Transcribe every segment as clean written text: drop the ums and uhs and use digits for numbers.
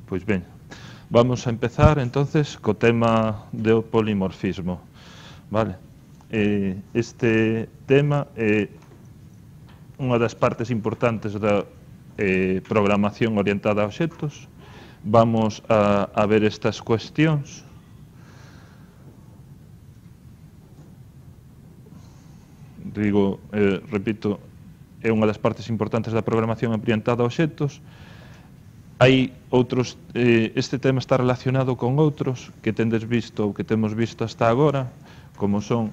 Pois ben, vamos a empezar entonces co tema do polimorfismo. Vale? Este tema é unha das partes importantes da programación orientada a obxectos. Vamos a ver estas cuestións. Digo, repito, é unha das partes importantes da programación orientada a obxectos. Hai outros, este tema está relacionado con outros que tendes visto ou que temos visto hasta agora, como son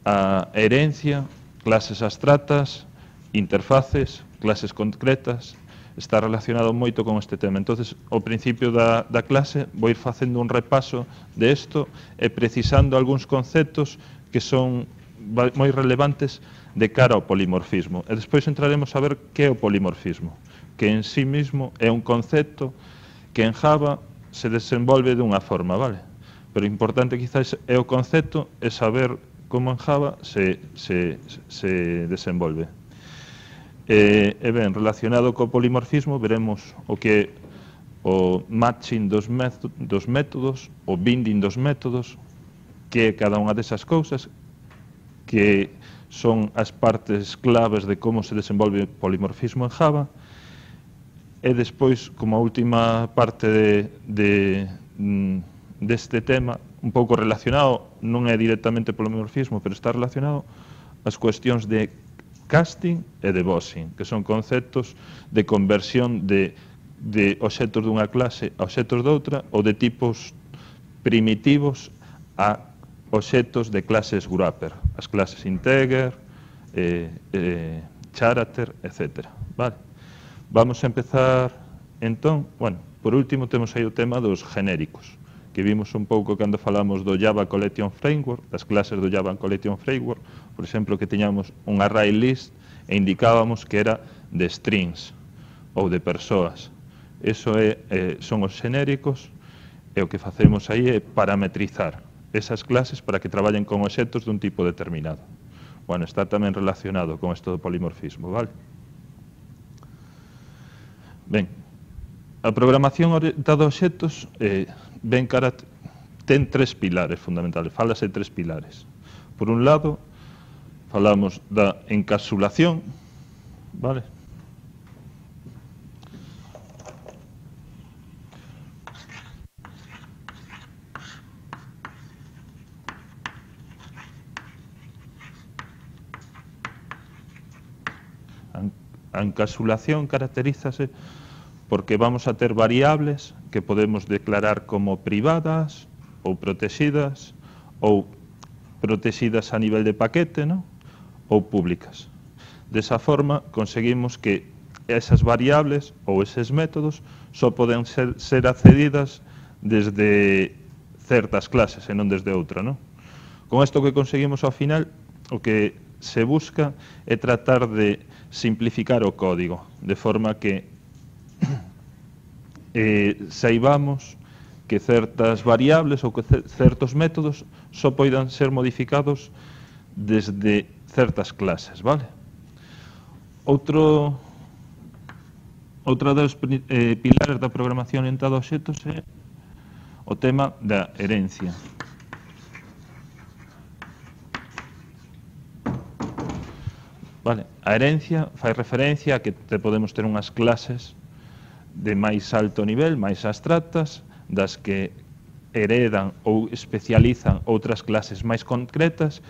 a herencia, clases abstractas, interfaces, clases concretas. Está relacionado moito con este tema. Entonces, ao principio da clase vou ir facendo un repaso de isto e precisando algúns conceptos que son moi relevantes de cara ao polimorfismo. E despois entraremos a ver que é o polimorfismo, que en sí mismo é un concepto que en Java se desenvolve dunha forma, vale? Pero o importante quizás é o concepto e saber como en Java se desenvolve. E ben, relacionado co polimorfismo, veremos o que é o matching dos métodos, o binding dos métodos, que é cada unha desas cousas, que son as partes claves de como se desenvolve o polimorfismo en Java. E despois, como a última parte deste tema, un pouco relacionado, non é directamente polimorfismo, pero está relacionado as cuestións de casting e de boxing, que son conceptos de conversión de obxectos dunha clase a obxectos doutra ou de tipos primitivos a obxectos de clases wrapper, as clases integer, character, etc. Vale? Vamos a empezar, entón, bueno, por último temos aí o tema dos genéricos, que vimos un pouco cando falamos do Java Collection Framework, das clases do Java Collection Framework, por exemplo, que tiñamos un array list e indicábamos que era de strings ou de persoas. Eso son os genéricos e o que facemos aí é parametrizar esas clases para que traballen con obxectos dun tipo determinado. Bueno, está tamén relacionado con isto do polimorfismo, vale? Ben, a programación orientada a obxectos ten tres pilares fundamentales, falase de tres pilares. Por un lado, falamos da encapsulación, vale? A encapsulación caracterízase porque vamos a ter variables que podemos declarar como privadas ou protegidas a nivel de paquete, ¿no? Ou públicas. Desa forma, conseguimos que esas variables ou eses métodos só poden ser accedidas desde certas clases e non desde outra, ¿no? Con isto que conseguimos ao final, o que se busca é tratar de simplificar o código, de forma que saibamos que certas variables ou que certos métodos só poidan ser modificados desde certas clases, vale? Outra dos pilares da programación orientada a obxectos é o tema da herencia. Vale, a herencia fai referencia a que podemos ter unhas clases de máis alto nivel, máis abstractas, das que heredan ou especializan outras clases máis concretas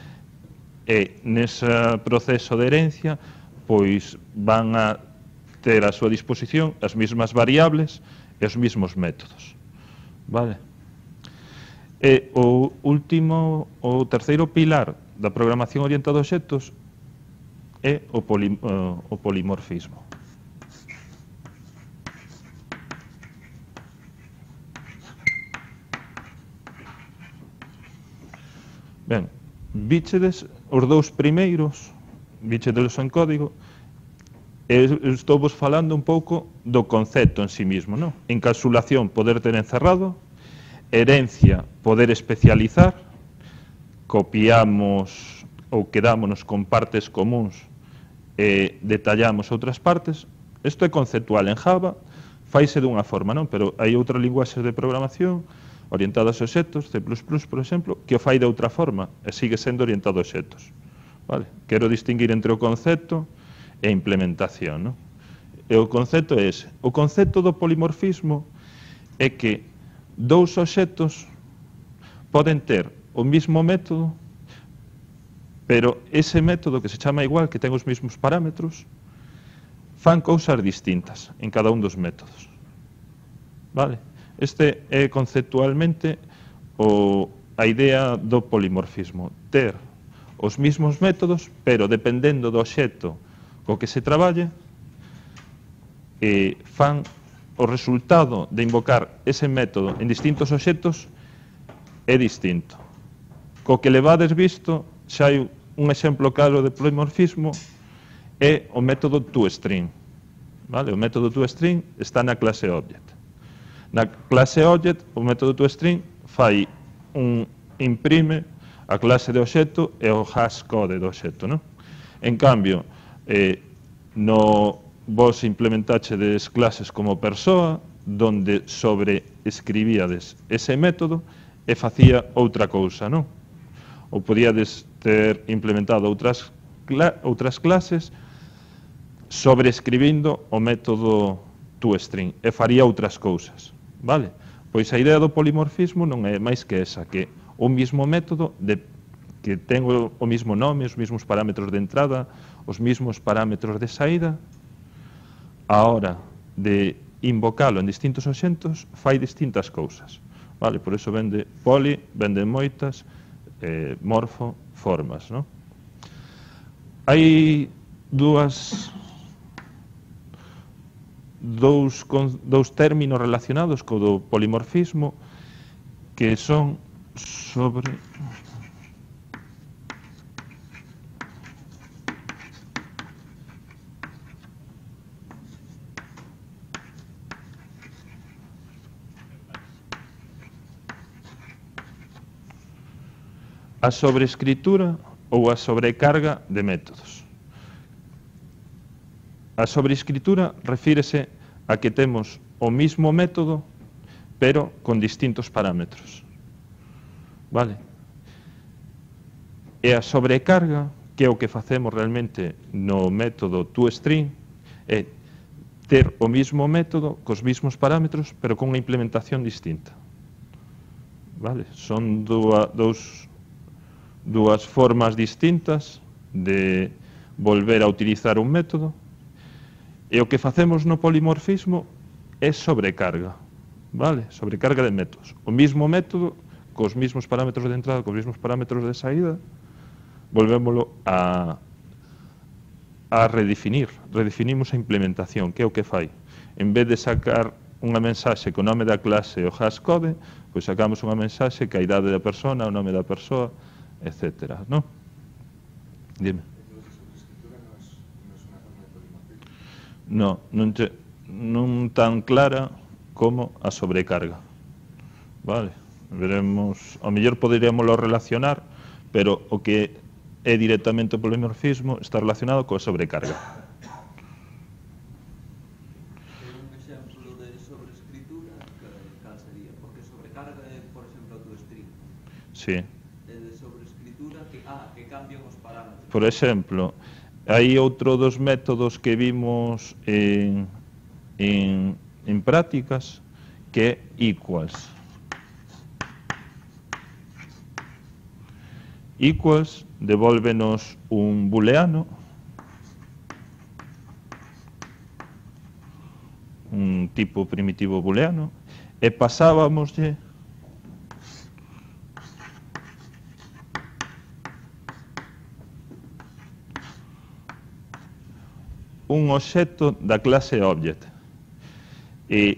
e nese proceso de herencia pois van a ter a súa disposición as mesmas variables e os mesmos métodos. Vale? E o terceiro pilar da programación orientada a obxectos é o polimorfismo. Ben, víchedes os dous primeiros, víchedelos en código, e estou vos falando un pouco do concepto en sí mismo, non? Encapsulación, poder ter encerrado, herencia, poder especializar, copiamos ou quedámonos con partes comuns e detallamos outras partes. Isto é conceptual en Java, faise dunha forma, non? Pero hai outras linguaxes de programación orientadas a obxectos, C++, por exemplo, que o fai de outra forma e sigue sendo orientado a obxectos. Vale? Quero distinguir entre o concepto e a implementación, non? E o concepto é ese. O concepto do polimorfismo é que dous obxectos poden ter o mismo método, pero ese método que se chama igual, que ten os mesmos parámetros, fan cousas distintas en cada un dos métodos. Vale? Este é conceptualmente a idea do polimorfismo, ter os mesmos métodos, pero dependendo do obxecto co que se traballe, fan o resultado de invocar ese método en distintos obxectos é distinto. Co que levades visto, xa hai un exemplo claro de polimorfismo, é o método toString. Vale? O método toString está na clase Object. Na clase Object, o método toString imprime a clase de obxecto e o hashcode do obxecto. Non? En cambio, vos implementaxedes clases como persoa, donde sobreescribíades ese método e facía outra cousa, non? Ou podíades ter implementado outras clases sobreescribindo o método toString e faría outras cousas, vale? Pois a idea do polimorfismo non é máis que esa, que o mismo método que ten o mismo nome, os mesmos parámetros de entrada, os mesmos parámetros de saída, a hora de invocalo en distintos obxectos, fai distintas cousas. Vale? Por iso vende poli, vende moitas, morfo, formas. Non? Hai dous términos relacionados co do polimorfismo que son sobre... a sobreescritura ou a sobrecarga de métodos. A sobreescritura refírese a que temos o mismo método, pero con distintos parámetros. Vale? E a sobrecarga, que é o que facemos realmente no método toString, é ter o mismo método, cos mismos parámetros, pero con unha implementación distinta. Vale? Son dúas formas distintas de volver a utilizar un método, e o que facemos no polimorfismo é sobrecarga, vale? Sobrecarga de métodos. O mismo método, cos mismos parámetros de entrada, cos mismos parámetros de saída, volvémolo a redefinir. Redefinimos a implementación, que é o que fai. En vez de sacar unha mensaxe co nome da clase e o hashcode, pois sacamos unha mensaxe que a idade da persona, o nome da persoa, etcétera, ¿no? Dime. No, non tan clara como a sobrecarga. Vale? Veremos, ao mellor poderíamoslo relacionar, pero o que é directamente o polimorfismo está relacionado coa sobrecarga. Un exemplo de sobreescritura, cal sería? Porque sobrecarga é, por exemplo, o toString. Sí. Que cambian os parámetros. Por exemplo, hai outro dos métodos que vimos en prácticas que é equals. Equals devólvenos un booleano, un tipo primitivo booleano, e pasábamoslle un obxecto da clase Object. E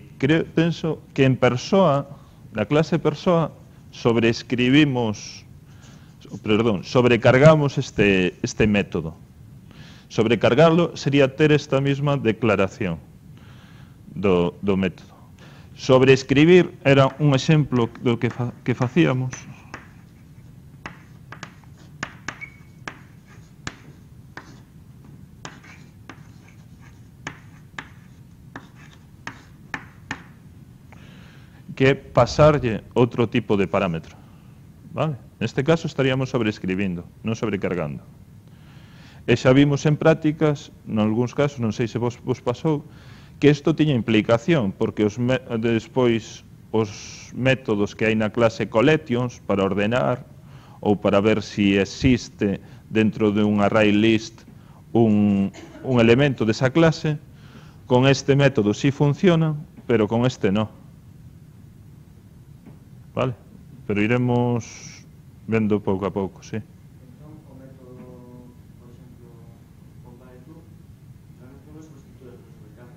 penso que en persoa, na clase persoa, sobrecargamos este método. Sobrecargarlo sería ter esta mesma declaración do método. Sobreescribir era un exemplo do que facíamos. que é pasarlle outro tipo de parámetro. Vale? Neste caso estaríamos sobreescribindo, non sobrecargando. E xa vimos en prácticas, nalgúns casos, non sei se vos pasou, que isto tiña implicación, porque despois os métodos que hai na clase collections para ordenar ou para ver se existe dentro de un array list un elemento desa clase, con este método sí funciona, pero con este no. Vale? Pero iremos vendo pouco a pouco, sí. Entón, o método, por exemplo, compare tú, tamén ten unha substitución de sobrecarga.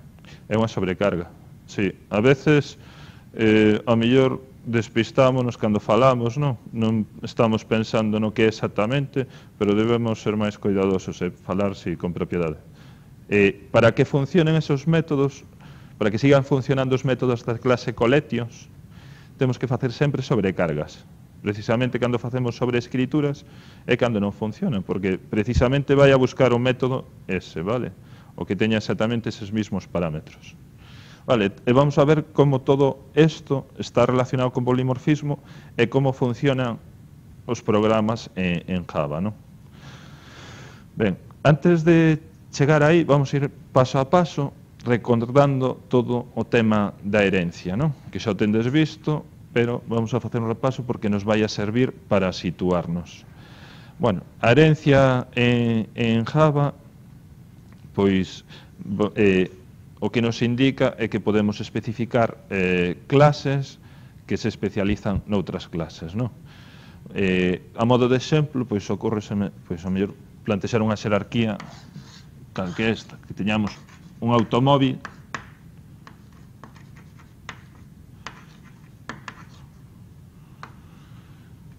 É unha sobrecarga, sí. A veces, a mellor despistámonos cando falamos, non? Non estamos pensando no que é exactamente, pero debemos ser máis cuidadosos e falar, sí, con propiedade. Para que funcionen esos métodos, para que sigan funcionando os métodos da clase collections, temos que facer sempre sobrecargas. Precisamente cando facemos sobreescrituras é cando non funcionan, porque precisamente vai a buscar o método ese, vale? O que teña exactamente eses mismos parámetros. Vale, e vamos a ver como todo isto está relacionado con polimorfismo e como funcionan os programas en Java, non? Ben, antes de chegar aí, vamos a ir paso a paso recordando todo o tema da herencia, non? Que xa o tendes visto, pero vamos a facer un repaso porque nos vai a servir para situarnos. Bueno, a herencia en Java, pois, o que nos indica é que podemos especificar clases que se especializan noutras clases, non? A modo de exemplo, pois, ocórreseme, pois, a mellor plantexar unha xerarquía tal que esta, que teñamos un automóvil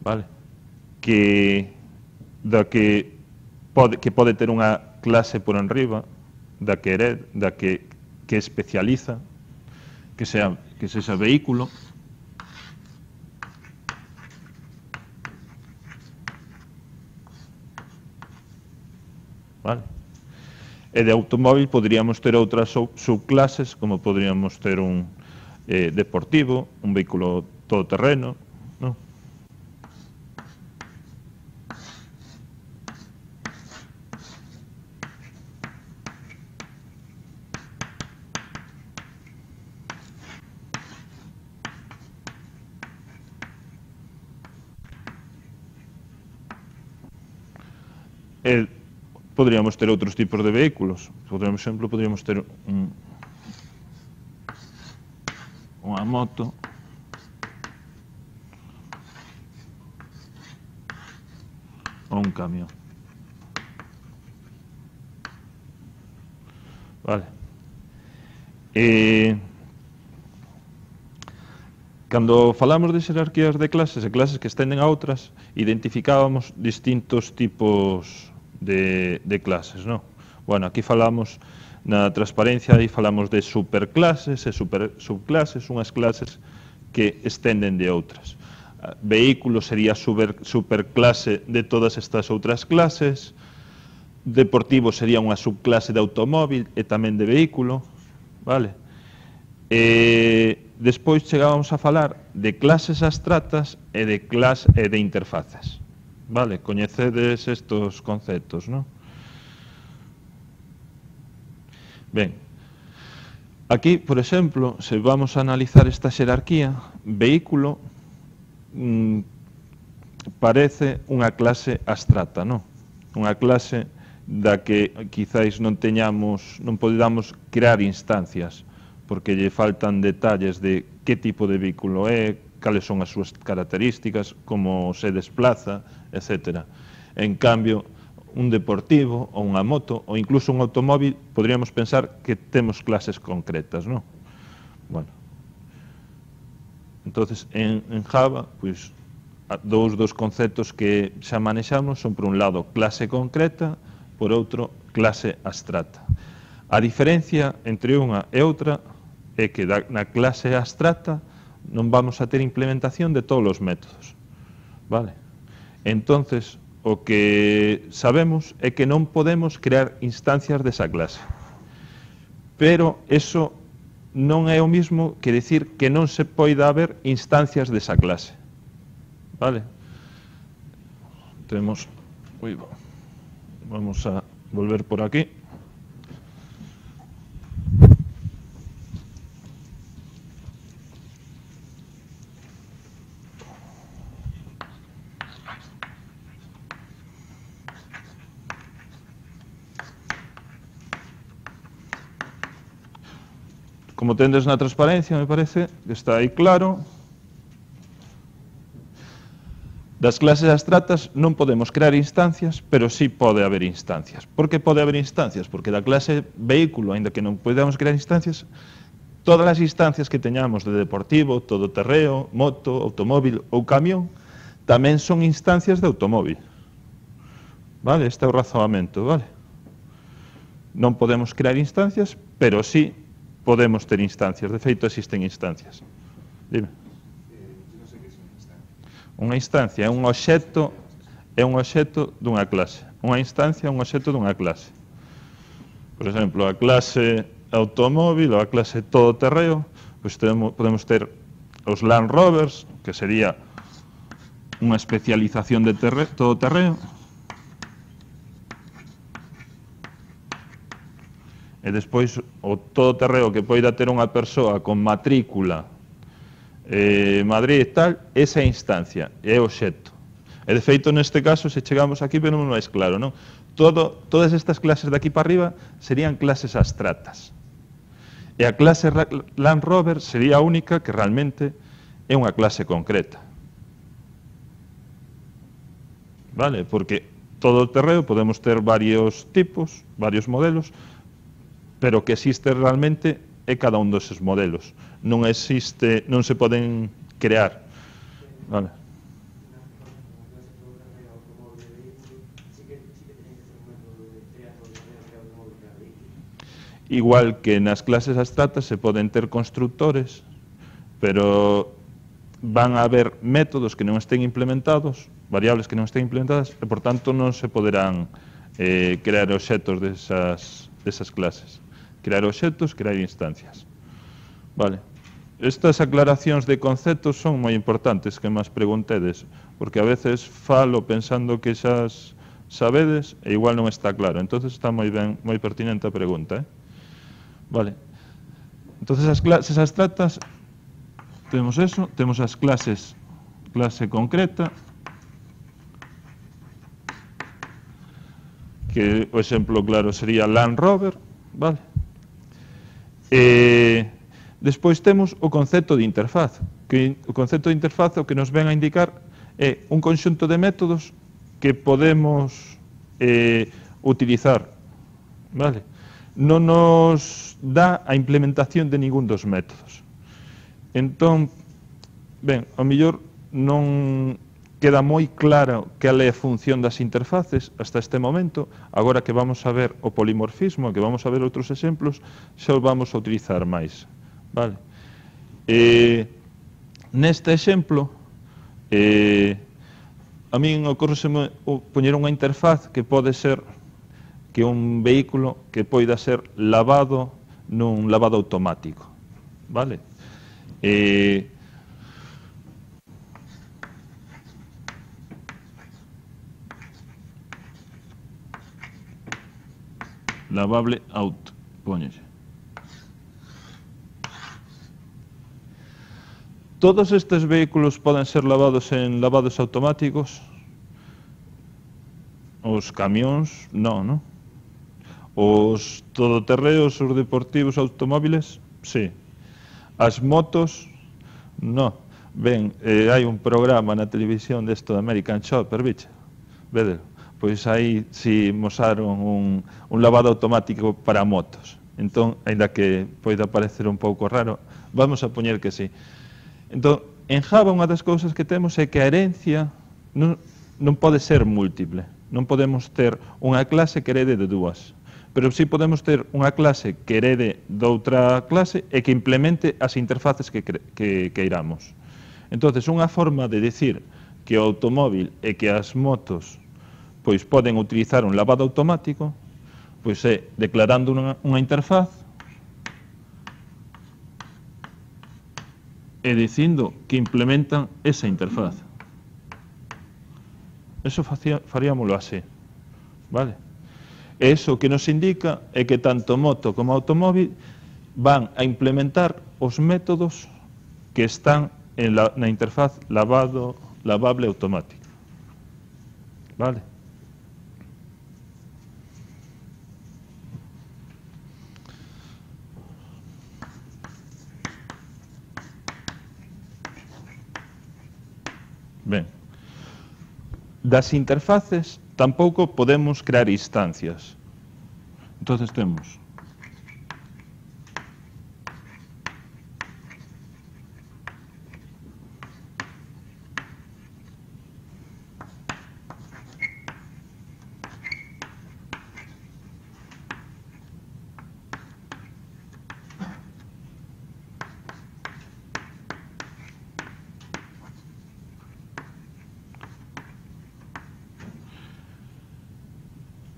vale, que pode ter unha clase por enriba da que especializa, que sexa vehículo, vale? E de automóvil poderíamos ter outras subclases, como poderíamos ter un deportivo, un vehículo todoterreno, non? Poderíamos ter outros tipos de vehículos. Por exemplo, poderíamos ter unha moto, ou un camión. Vale. Cando falamos de xerarquías de clases e clases que estenden a outras, identificábamos distintos tipos de clases, non? Bueno, aquí falamos na transparencia e falamos de superclases e subclases, unhas clases que estenden de outras. Vehículo sería superclase de todas estas outras clases, deportivo sería unha subclase de automóvil e tamén de vehículo, vale? Despois chegábamos a falar de clases abstractas e de interfaces. Vale, coñecedes estos conceptos, non? Ben, aquí, por exemplo, se vamos a analizar esta xerarquía, vehículo parece unha clase abstracta, non? Unha clase da que quizáis non podamos crear instancias, porque lle faltan detalles de que tipo de vehículo é, cales son as súas características, como se desplaza, etc. En cambio, un deportivo ou unha moto ou incluso un automóvil podríamos pensar que temos clases concretas, non? Bueno, entonces en Java, pois, dous dos conceptos que xa manexamos son, por un lado, clase concreta, por outro, clase abstracta. A diferencia entre unha e outra é que na clase abstracta non vamos a ter implementación de todos os métodos, vale? Entonces, o que sabemos é que non podemos crear instancias desa clase, pero eso non é o mismo que decir que non se poida haber instancias desa clase. Vale? Temos... Vamos a volver por aquí. Como tendes na transparencia, me parece que está aí claro. Das clases abstractas non podemos crear instancias, pero sí pode haber instancias. Por que pode haber instancias? Porque da clase vehículo, aínda que non podamos crear instancias, todas as instancias que teñamos de deportivo, todoterreo, moto, automóvil ou camión, tamén son instancias de automóvil. Vale? Este é o razoamento, vale? Non podemos crear instancias, pero sí podemos ter instancias. De feito, existen instancias. Dime. Non sei que é unha instancia. Unha instancia é un obxecto dunha clase. Unha instancia é un obxecto dunha clase. Por exemplo, a clase automóvil ou a clase todoterreo, pois podemos ter os Land Rovers, que sería unha especialización de todoterreo, e despois o todoterreo que poida ter unha persoa con matrícula Madrid e tal, esa é a instancia, é o obxecto. E de feito, neste caso, se chegamos aquí, pero non é claro, non? Todas estas clases de aquí para arriba serían clases abstractas. E a clase Land Rover sería a única que realmente é unha clase concreta. Vale? Porque todo o terreo podemos ter varios tipos, varios modelos, pero que existe realmente é cada un deses modelos. Non existe, non se poden crear. Vale. Igual que nas clases abstractas se poden ter constructores, pero van a haber métodos que non estén implementados, variables que non estén implementadas, e por tanto non se poderán crear obxectos desas clases. Crear obxectos, crear instancias. Vale. Estas aclaracións de conceptos son moi importantes que máis preguntedes, porque a veces falo pensando que xa sabedes e igual non está claro. Entonces está moi ben, moi pertinente a pregunta. Vale. Entonces as clases abstractas temos eso, temos as clases, clase concreta, que o exemplo claro sería Land Rover, vale? Despois temos o concepto de interfaz, que o concepto de interfaz o que nos ven a indicar é un conxunto de métodos que podemos utilizar, vale? Non nos dá a implementación de ningún dos métodos. Entón, ben, ao mellor non queda moi claro cal é a función das interfaces hasta este momento. Agora que vamos a ver o polimorfismo, que vamos a ver outros exemplos, xa o vamos a utilizar máis. Vale? Neste exemplo, a min ocorreseme poñer unha interfaz que pode ser que un vehículo que poida ser lavado nun lavado automático. Vale? Lavable out, póñese. Todos estes vehículos poden ser lavados en lavados automáticos? Os camións, non, non? Os todoterreos, os deportivos, automóviles, sí. As motos, non. Ben, hai un programa na televisión desto de American Chopper, bicho, vedelo. Pois aí si mostraron un lavado automático para motos. Entón, ainda que poida parecer un pouco raro, vamos a poñer que sí. Entón, en Java unha das cousas que temos é que a herencia non pode ser múltiple. Non podemos ter unha clase que herede de dúas. Pero si podemos ter unha clase que herede doutra clase e que implemente as interfaces que queiramos. Entón, unha forma de decir que o automóvil e que as motos pois poden utilizar un lavado automático, pois é declarando unha interfaz e dicindo que implementan esa interfaz. Eso faríamoslo así, vale? E iso que nos indica é que tanto moto como automóvil van a implementar os métodos que están na interfaz lavable automática, vale? Ben, das interfaces tampouco podemos crear instancias. Entonces temos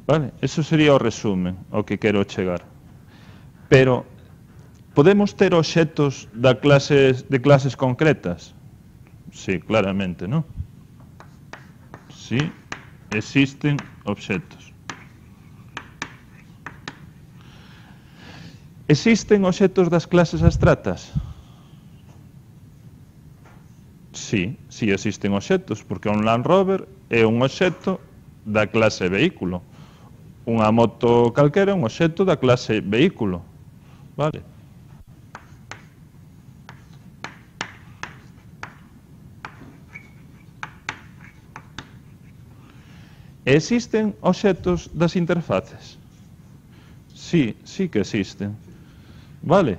vale, eso sería o resumen ao que quero chegar. Pero podemos ter obxectos de clases concretas? Sí, claramente, non? Sí, existen obxectos. Existen obxectos das clases abstractas? Sí, sí existen obxectos, porque un Land Rover é un obxecto da clase vehículo. Unha moto calquera é un obxecto da clase vehículo, vale? Existen obxectos das interfaces? Sí, sí que existen, vale?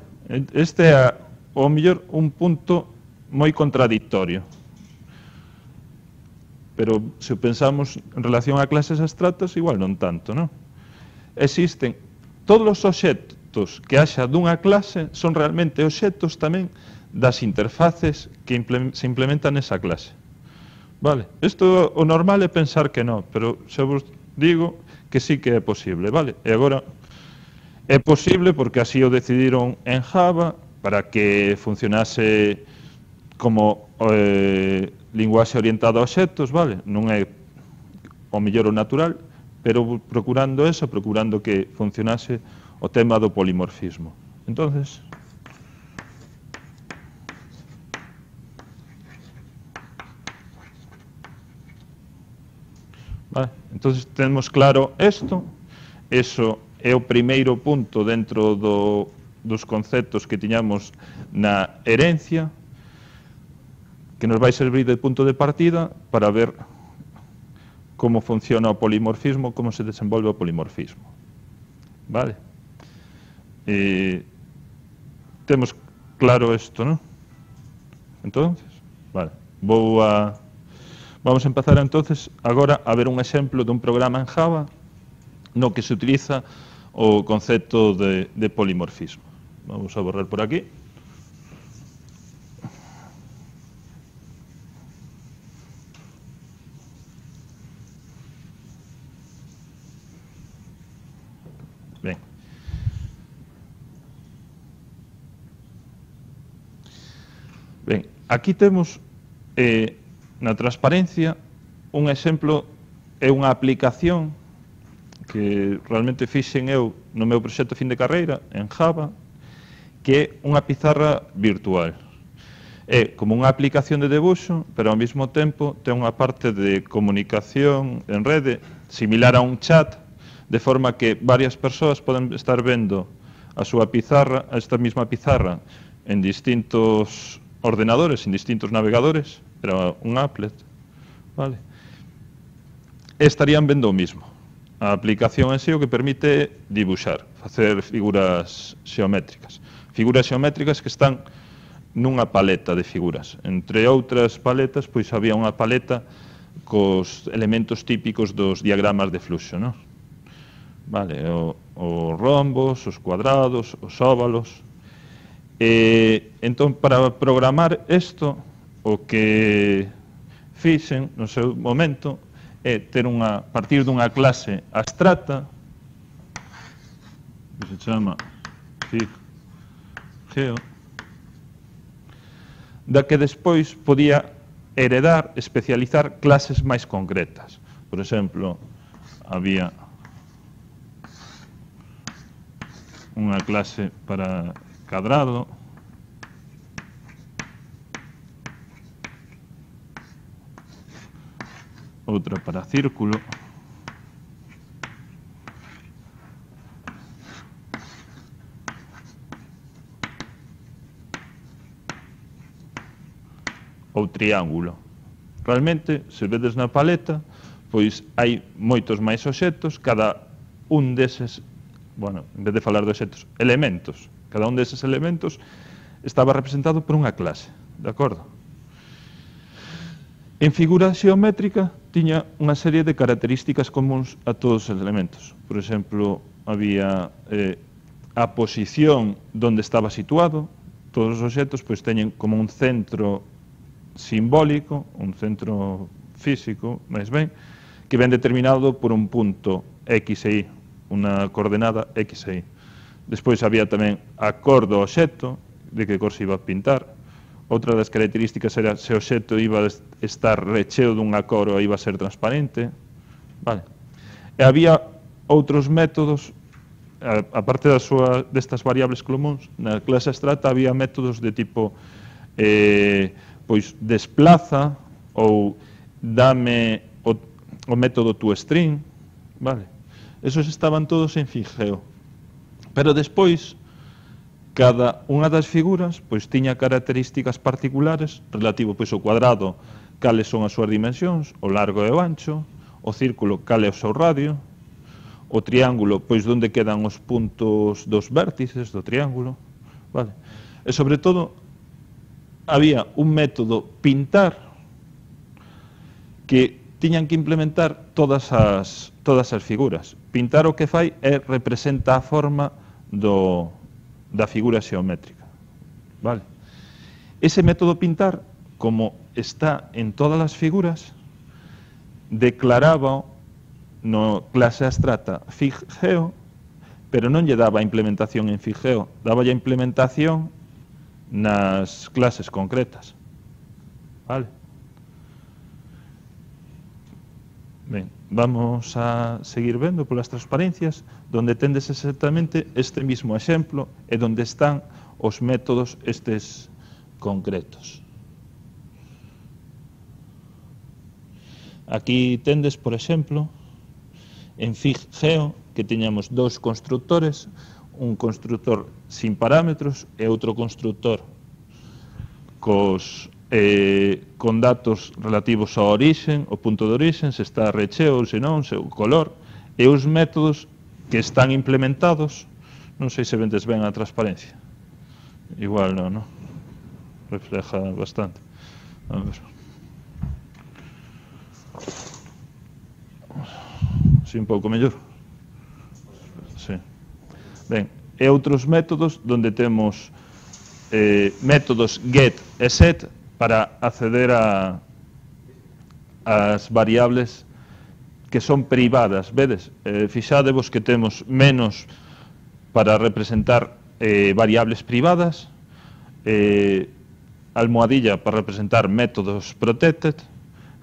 Este é, ao mellor, un punto moi contradictorio. Pero se pensamos en relación a clases abstractas, igual non tanto, non? Existen todos os obxectos que haxa dunha clase son realmente obxectos tamén das interfaces que se implementan nesa clase. Vale? Isto o normal é pensar que non, pero xa vos digo que sí que é posible, vale? E agora é posible porque así o decidiron en Java para que funcionase como linguaxe orientada a obxectos, vale? Non é o mellor o natural, pero procurando eso, procurando que funcionase o tema do polimorfismo. Entonces, vale, entonces temos claro isto, eso é o primeiro punto dentro dos conceptos que tiñamos na herencia, que nos vai servir de punto de partida para ver como funciona o polimorfismo, como se desenvolve o polimorfismo. Vale? Temos claro isto, non? Entonces, vale. Vamos a empezar entonces agora a ver un exemplo dun programa en Java no que se utiliza o concepto de polimorfismo. Vamos a borrar por aquí. Ben. Ben, aquí temos na transparencia un exemplo, é unha aplicación que realmente fixen eu no meu proxecto fin de carreira en Java, que é unha pizarra virtual. É como unha aplicación de debuxo, pero ao mesmo tempo ten unha parte de comunicación en rede similar a un chat, de forma que varias persoas poden estar vendo a súa pizarra, a esta mesma pizarra, en distintos ordenadores, en distintos navegadores, pero un applet, vale? E estarían vendo o mismo. A aplicación en sí o que permite dibuxar, facer figuras xeométricas. Figuras xeométricas que están nunha paleta de figuras. Entre outras paletas, pois había unha paleta cos elementos típicos dos diagramas de fluxo, non? Vale, os rombos, os cuadrados, os óvalos. Entón, para programar isto, o que fixen no seu momento é ter partir dunha clase abstracta que se chama FigGeo. da que despois podía heredar, especializar clases máis concretas. Por exemplo, había unha clase para cadrado, outra para círculo, ou triángulo. Realmente, se vedes na paleta, pois hai moitos máis obxectos, cada un deses, bueno, en vez de falar de obxectos, elementos, cada un deses elementos estaba representado por unha clase, de acordo? En figura xeométrica tiña unha serie de características comuns a todos os elementos. Por exemplo, había a posición onde estaba situado. Todos os obxectos pois teñen como un centro simbólico, un centro físico, máis ben, que ven determinado por un punto X e Y, unha coordenada X e Y. Despois había tamén a cor do obxecto, de que cor se iba a pintar. Outra das características era se o obxecto iba a estar recheo dunha cor ou iba a ser transparente. Vale. E había outros métodos, aparte destas variables comuns, na clase abstracta había métodos de tipo pois desplaza ou dame o método toString, vale? Esos estaban todos en Figeo. Pero despois, cada unha das figuras pois tiña características particulares relativo pois ao cuadrado, cales son as súas dimensións, o largo e o ancho, o círculo, cal é o seu radio, o triángulo, pois onde quedan os puntos dos vértices do triángulo, vale? E sobre todo, había un método pintar que tiñan que implementar todas as figuras. Pintar o que fai é representa a forma da figura xeométrica. Vale? Ese método pintar, como está en todas as figuras, declaraba no clase abstracta Figeo, pero non lle daba a implementación en Figeo, daba a implementación nas clases concretas. Vale? Ben, vamos a seguir vendo polas transparencias, donde tendes exactamente este mismo exemplo e donde están os métodos estes concretos. Aquí tendes, por exemplo, en Figeo, que tiñamos dous constructores, un constructor sin parámetros e outro constructor con datos relativos ao orixen, o punto de orixen, se está recheo ou se non, o color, e os métodos que están implementados. Non sei se vendes ben a transparencia. Igual non, non? Refleja bastante. A ver. Si un pouco mellor. Sí. Ben, e outros métodos donde temos métodos get e set para acceder ás variables que son privadas. Vedes, fixadevos que temos menos para representar variables privadas, almohadilla para representar métodos protected,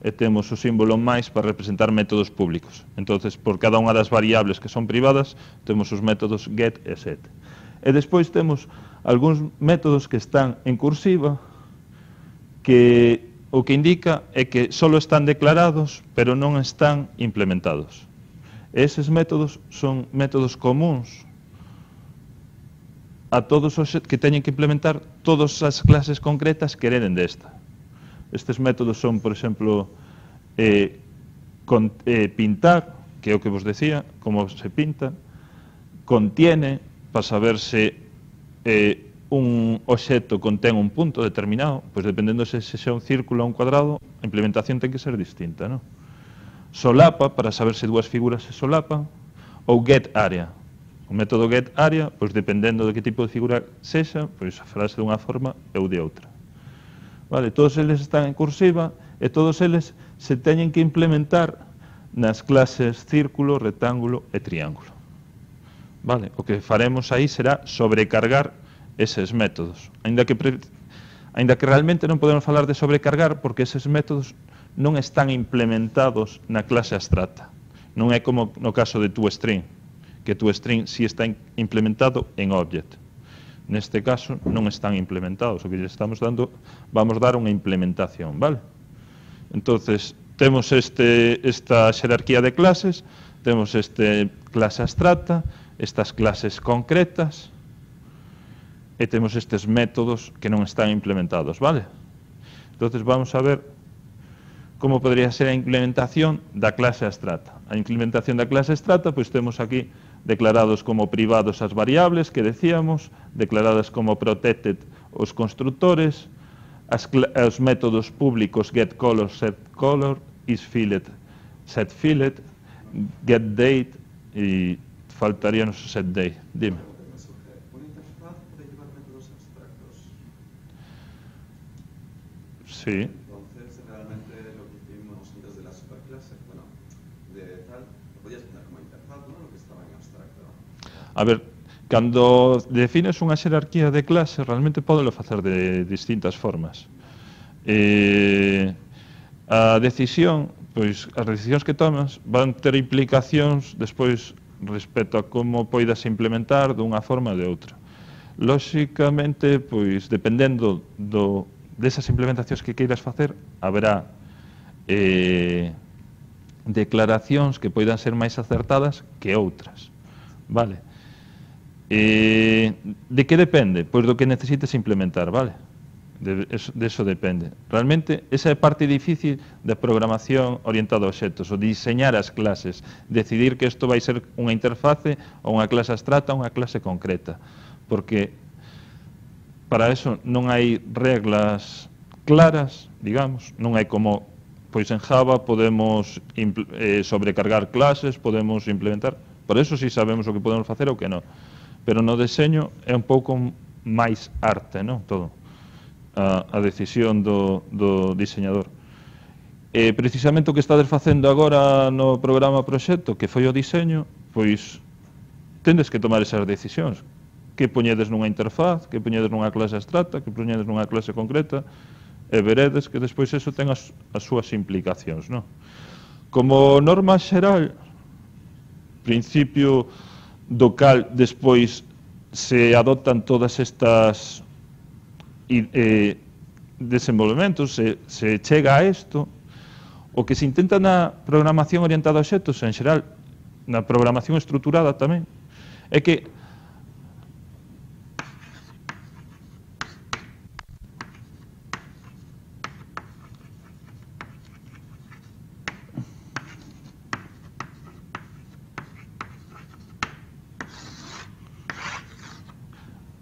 e temos o símbolo máis para representar métodos públicos. Entonces, por cada unha das variables que son privadas, temos os métodos get e set. E despois temos algúns métodos que están en cursiva, que o que indica é que só están declarados, pero non están implementados. E eses métodos son métodos comuns a todos os que teñen que implementar todas as clases concretas que hereden desta. Estes métodos son, por exemplo, pintar, que é o que vos decía, como se pinta, contiene, para saber se un obxecto contén un punto determinado, pois dependendo se xa un círculo ou un cuadrado, a implementación ten que ser distinta, non? Solapa, para saber se dúas figuras se solapan, ou get area. O método get area, pois dependendo de que tipo de figura sexa, pois farase dunha forma ou de outra. Vale, todos eles están en cursiva e todos eles se teñen que implementar nas clases círculo, rectángulo e triángulo. Vale, o que faremos aí será sobrecargar eses métodos. Ainda que Aínda que realmente non podemos falar de sobrecargar porque eses métodos non están implementados na clase abstracta. Non é como no caso de toString, que toString sí está implementado en Object. Neste caso non están implementados, o que lle estamos dando, vamos dar unha implementación, vale? Entonces, temos esta xerarquía de clases, temos clase abstracta, estas clases concretas, e temos estes métodos que non están implementados, vale? Entonces, vamos a ver como podría ser a implementación da clase abstracta. A implementación da clase abstracta, pois temos aquí declarados como privados as variables que decíamos, declaradas como protected os constructores, os métodos públicos getColor, setColor, isFillet, setFillet, getDate e faltaríanos o setDate. Dime. ¿Una interfaz puede llevar métodos abstractos? Sí. Entonces, realmente lo que hicimos antes de la superclase, bueno, de tal, lo podías poner como interfaz, ¿no? Lo que estaba en abstracto. A ver, cando defines unha xerarquía de clase, realmente podelo facer de distintas formas. A decisión, pois, as decisións que tomas van ter implicacións despois respecto a como poidas implementar dunha forma ou de outra. Lóxicamente, pois, dependendo desas implementacións que queiras facer, haberá declaracións que poidan ser máis acertadas que outras. Vale? De que depende? Pois do que necesites implementar, vale? De eso depende. Realmente, esa é a parte difícil da programación orientada a obxectos, o diseñar as clases, decidir que isto vai ser unha interface ou unha clase abstracta ou unha clase concreta, porque para eso non hai reglas claras, digamos, non hai como, pois en Java podemos sobrecargar clases, podemos implementar, por eso si sabemos o que podemos facer ou que non, pero no deseño é un pouco máis arte, non? Todo. A decisión do diseñador. Precisamente o que estades facendo agora no programa proxecto, que foi o diseño, pois tendes que tomar esas decisións. Que poñedes nunha interfaz, que poñedes nunha clase abstracta, que poñedes nunha clase concreta, e veredes que despois eso ten as súas implicacións, non? Como norma xeral, principio do cal despois se adoptan todas estas desenvolvementos, se chega a isto, o que se intenta na programación orientada a obxectos, en xeral, na programación estruturada tamén, é que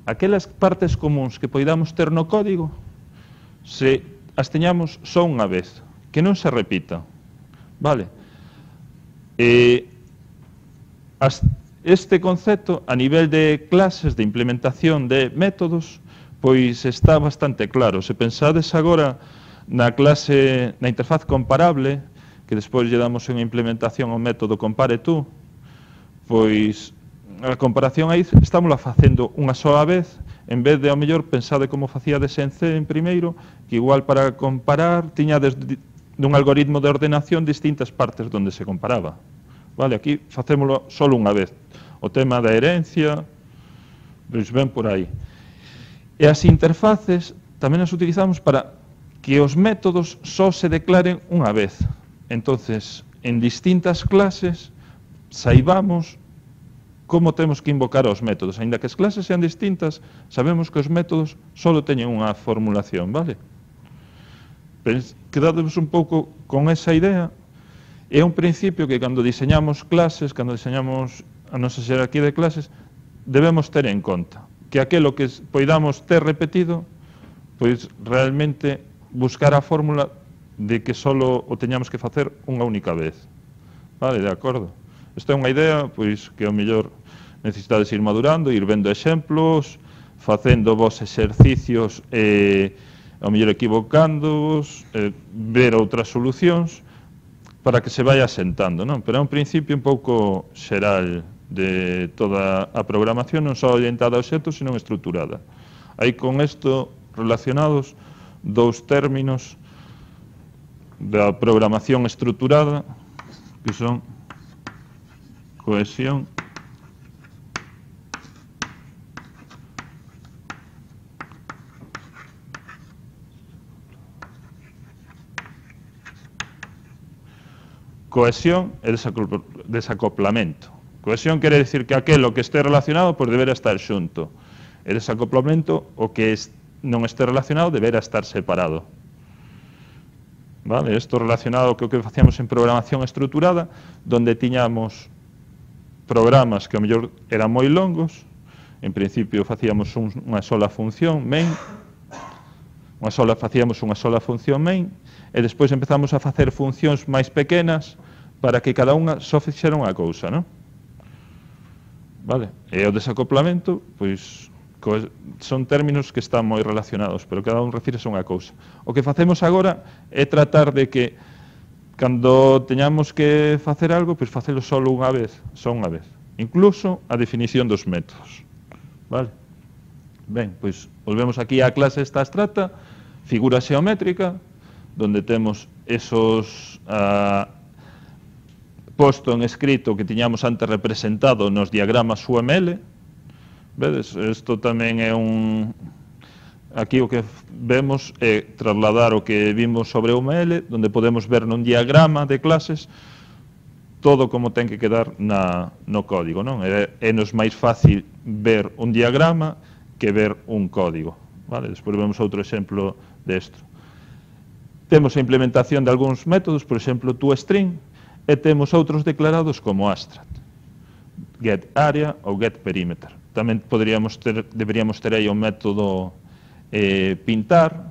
aquelas partes comuns que poidamos ter no código, se as teñamos só unha vez, que non se repita, vale? Este concepto, a nivel de clases, de implementación de métodos, pois está bastante claro. Se pensades agora na clase, na interfaz comparable, que despois lle damos unha implementación ao método compare tú, pois a comparación aí estámosla facendo unha soa vez, en vez de, ao mellor, pensade como facíades en C en primeiro, que igual para comparar tiñades dun algoritmo de ordenación distintas partes onde se comparaba. Vale, aquí facémolo só unha vez. O tema da herencia, pois ven por aí. E as interfaces tamén as utilizamos para que os métodos só se declaren unha vez. Entonces, en distintas clases, saibamos como temos que invocar os métodos. Aínda que as clases sean distintas, sabemos que os métodos só teñen unha formulación, vale? Quedademos un pouco con esa idea. É un principio que cando diseñamos clases, cando diseñamos a nosa xerarquía de clases, debemos ter en conta que aquelo que poidamos ter repetido, pois realmente buscar a fórmula de que só o teñamos que facer unha única vez. Vale, de acordo? Esta é unha idea, pois, que ao mellor necesitades ir madurando, ir vendo exemplos, facendo vos exercicios ao mellor equivocándoos, ver outras solucións para que se vaya asentando, non? Pero é un principio un pouco xeral de toda a programación, non só orientada a obxectos, sino estruturada. Aí con isto relacionados dous términos da programación estruturada que son cohesión e desacoplamento. Cohesión quere dicir que aquelo que este relacionado pois deberá estar xunto. E desacoplamento, o que non este relacionado deberá estar separado. Vale? Isto relacionado co que facíamos en programación estruturada, donde tiñamos programas que ao mellor eran moi longos. En principio facíamos unha sola función main, facíamos unha sola función main, e despois empezamos a facer funcións máis pequenas para que cada unha só fixera unha cousa, non? Vale? E o desacoplamento, pois, son términos que están moi relacionados, pero cada un refírese a unha cousa. O que facemos agora é tratar de que, cando teñamos que facer algo, pois facelo só unha vez. Incluso a definición dos métodos. Vale? Ben, pois, volvemos aquí á clase esta abstracta, figura xeométrica, donde temos esos posto en escrito que tiñamos antes representado nos diagramas UML. Vedes, isto tamén é aquí o que vemos é trasladar o que vimos sobre UML, donde podemos ver nun diagrama de clases todo como ten que quedar no código, non? É nos máis fácil ver un diagrama que ver un código. Vale? Despois vemos outro exemplo desto. Temos a implementación de algúns métodos, por exemplo, toString, e temos outros declarados como abstract, getArea ou getPerimeter. Tamén deberíamos ter aí o método pintar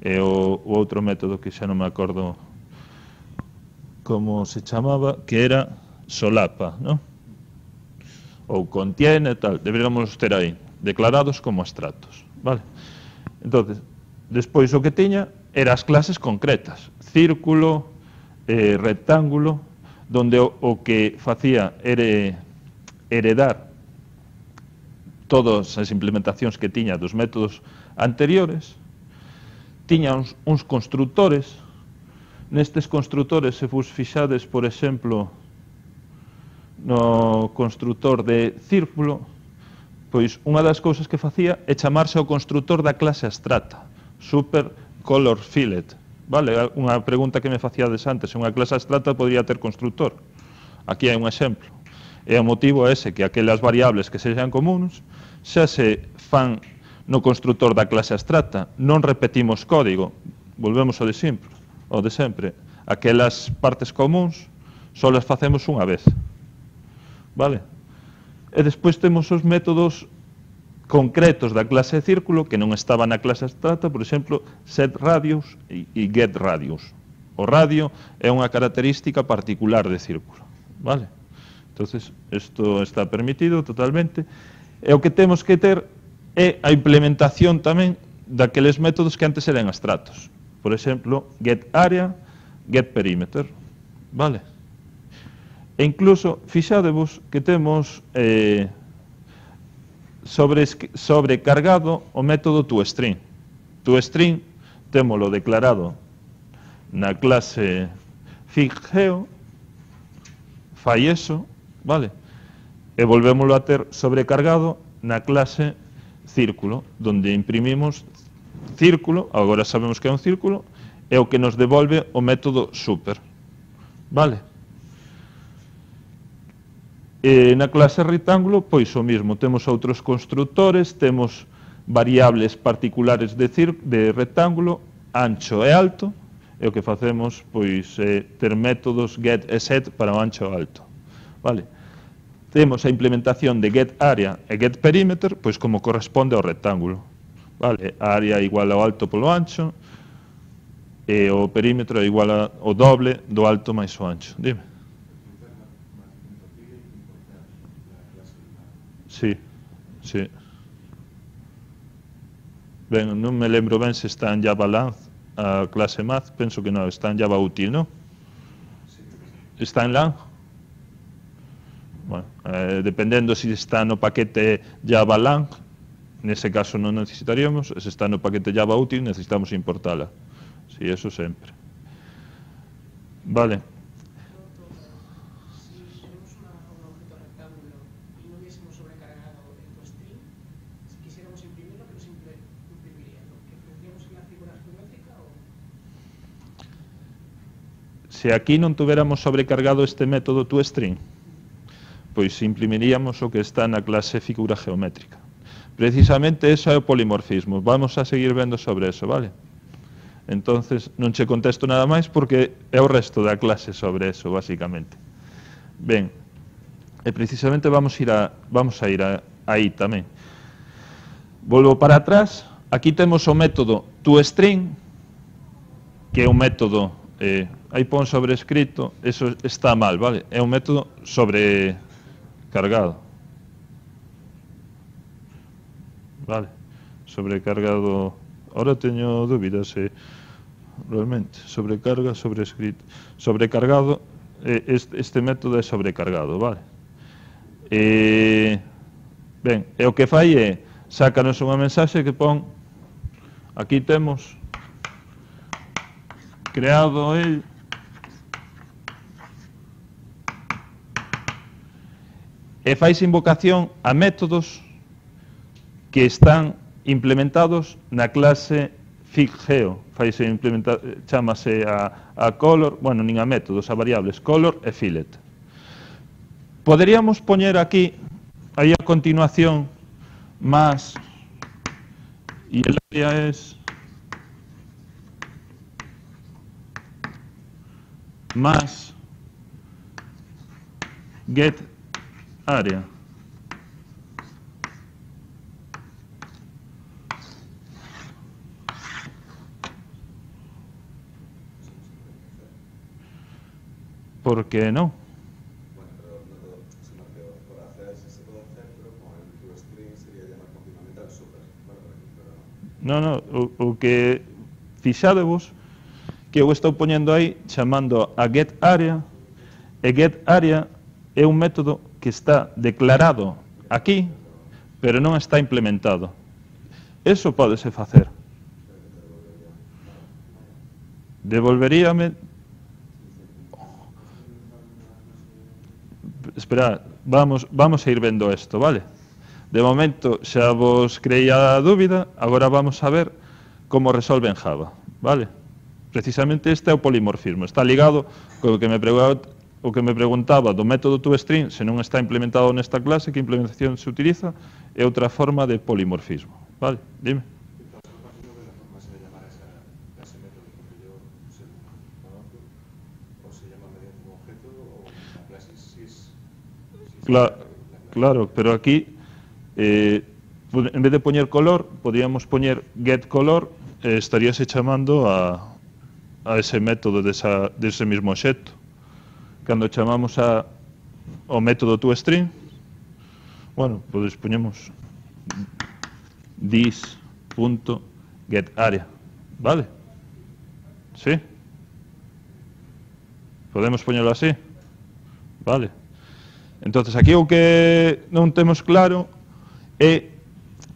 e o outro método que xa non me acordo como se chamaba, que era solapa, non? Ou contiene, tal. Deberíamos ter aí, declarados como abstractos. Vale? Entón, despois o que tiña eran as clases concretas, círculo, rectángulo, donde o que facía era heredar todas as implementacións que tiña dos métodos anteriores. Tiña uns constructores. Nestes constructores, se vos fixades, por exemplo, no constructor de círculo, pois unha das cousas que facía é chamarse ao constructor da clase abstracta, super color fillet. Vale, unha pregunta que me facíades antes, unha clase abstracta podría ter constructor. Aquí hai un exemplo. E o motivo é ese, que aquelas variables que sexan comuns xa se fan no constructor da clase abstracta. Non repetimos código, volvemos ao de sempre. Aquelas partes comuns só las facemos unha vez. Vale? E despois temos os métodos concretos da clase de círculo que non estaban na clase abstracta, por exemplo, setRadius e getRadius. O radio é unha característica particular de círculo. Vale? Entonces, isto está permitido totalmente. E o que temos que ter é a implementación tamén daqueles métodos que antes eran abstractos. Por exemplo, getArea, getPerimeter. Vale? E incluso, fixadevos que temos sobrecargado o método toString. ToString témolo declarado na clase FigGeo, fai eso, vale? E volvémoslo a ter sobrecargado na clase círculo, donde imprimimos círculo, agora sabemos que é un círculo, é o que nos devolve o método super, vale? E na clase rectángulo, pois o mismo, temos outros constructores, temos variables particulares de rectángulo, ancho e alto, e o que facemos pois é ter métodos get e set para o ancho e alto. Vale? Temos a implementación de getArea e getPerimeter, pois como corresponde ao rectángulo. Vale? A área é igual ao alto polo ancho, e o perímetro é igual ao doble do alto máis o ancho. Dime. Sí, sí. Ben, non me lembro ben se está en Java Lang a clase Math, penso que non, está en Java Útil, non? Está en Lang? Bueno, dependendo se está no paquete Java Lang, nese caso non necesitaríamos, se está no paquete Java útil necesitamos importala. Si, eso sempre. Vale. Si tenemos un objeto rectángulo y no hubiésemos sobrecargado el toString, si quisiéramos imprimirlo, ¿qué nos imprimiría? ¿Lo que tendríamos en la figura geométrica o...? Se aquí non tuviéramos sobrecargado este método toString, pois imprimiríamos o que está na clase figura geométrica. Precisamente eso é o polimorfismo. Vamos a seguir vendo sobre eso, vale? Entonces, non che contesto nada máis porque é o resto da clase sobre eso, básicamente. Ben, e precisamente vamos a ir aí tamén. Volvo para atrás. Aquí temos o método toString, que é un método, aí pon sobrescrito, eso está mal, vale? É un método sobrecargado. Vale, sobrecargado. Ahora teño dúbidas se realmente sobrecarga, sobrescrito. Sobrecargado, este método é sobrecargado, vale? Ben, e o que fai é sácanos unha mensaxe que pon aquí temos creado el e fais invocación a métodos que están implementados na clase FigGeo. Chámase a color, bueno, nin a métodos, a variables color e fillet. Poderíamos poñer aquí, aí a continuación, más, e el área es más get área. ¿Por qué no? Bueno, pero no todo, sino que por hacer sí se puede hacer, pero con el toString sería llamar continuamente al super. Bueno, pero o que fixadevos que eu estou poñendo aí chamando a getArea, e getArea é un método que está declarado aquí, pero non está implementado. Eso pódese facer. Devolveríame. Esperad, vamos a ir vendo isto, vale? De momento xa vos creí a dúbida, agora vamos a ver como resolve en Java, vale? Precisamente este é o polimorfismo, está ligado co que me preguntaba do método toString, se non está implementado nesta clase, que implementación se utiliza, é outra forma de polimorfismo, vale? Dime. Claro, pero aquí, en vez de poñer color, podríamos poñer getColor, estaríase chamando a ese método dese mismo obxecto. Cando chamamos ao método toString, bueno, pois poñemos this.getArea, vale? Sí? Podemos poñelo así? Vale. Entonces, aquí o que non temos claro é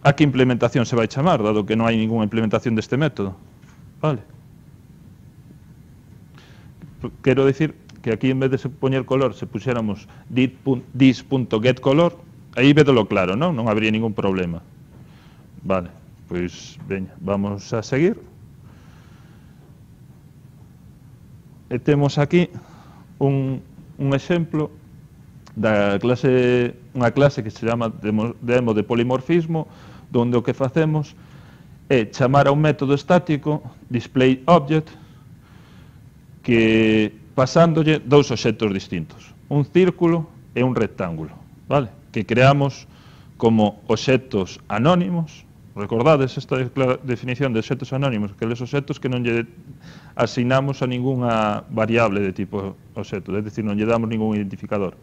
a que implementación se vai chamar, dado que non hai ninguna implementación deste método. Vale. Quero dicir que aquí, en vez de poñer color, se puxéramos this.getColor, aí vedolo claro, non? Non habría ningún problema. Vale, pois, veña, vamos a seguir. E temos aquí un exemplo da clase, unha clase que se chama demo de polimorfismo, onde o que facemos é chamar a un método estático, displayObject, que pasándolle dous obxectos distintos, un círculo e un rectángulo, vale? Que creamos como obxectos anónimos. Recordades esta definición de obxectos anónimos, que les obxectos que non lle asignamos a ningunha variable de tipo obxecto, é dicir, non lle damos ningún identificador.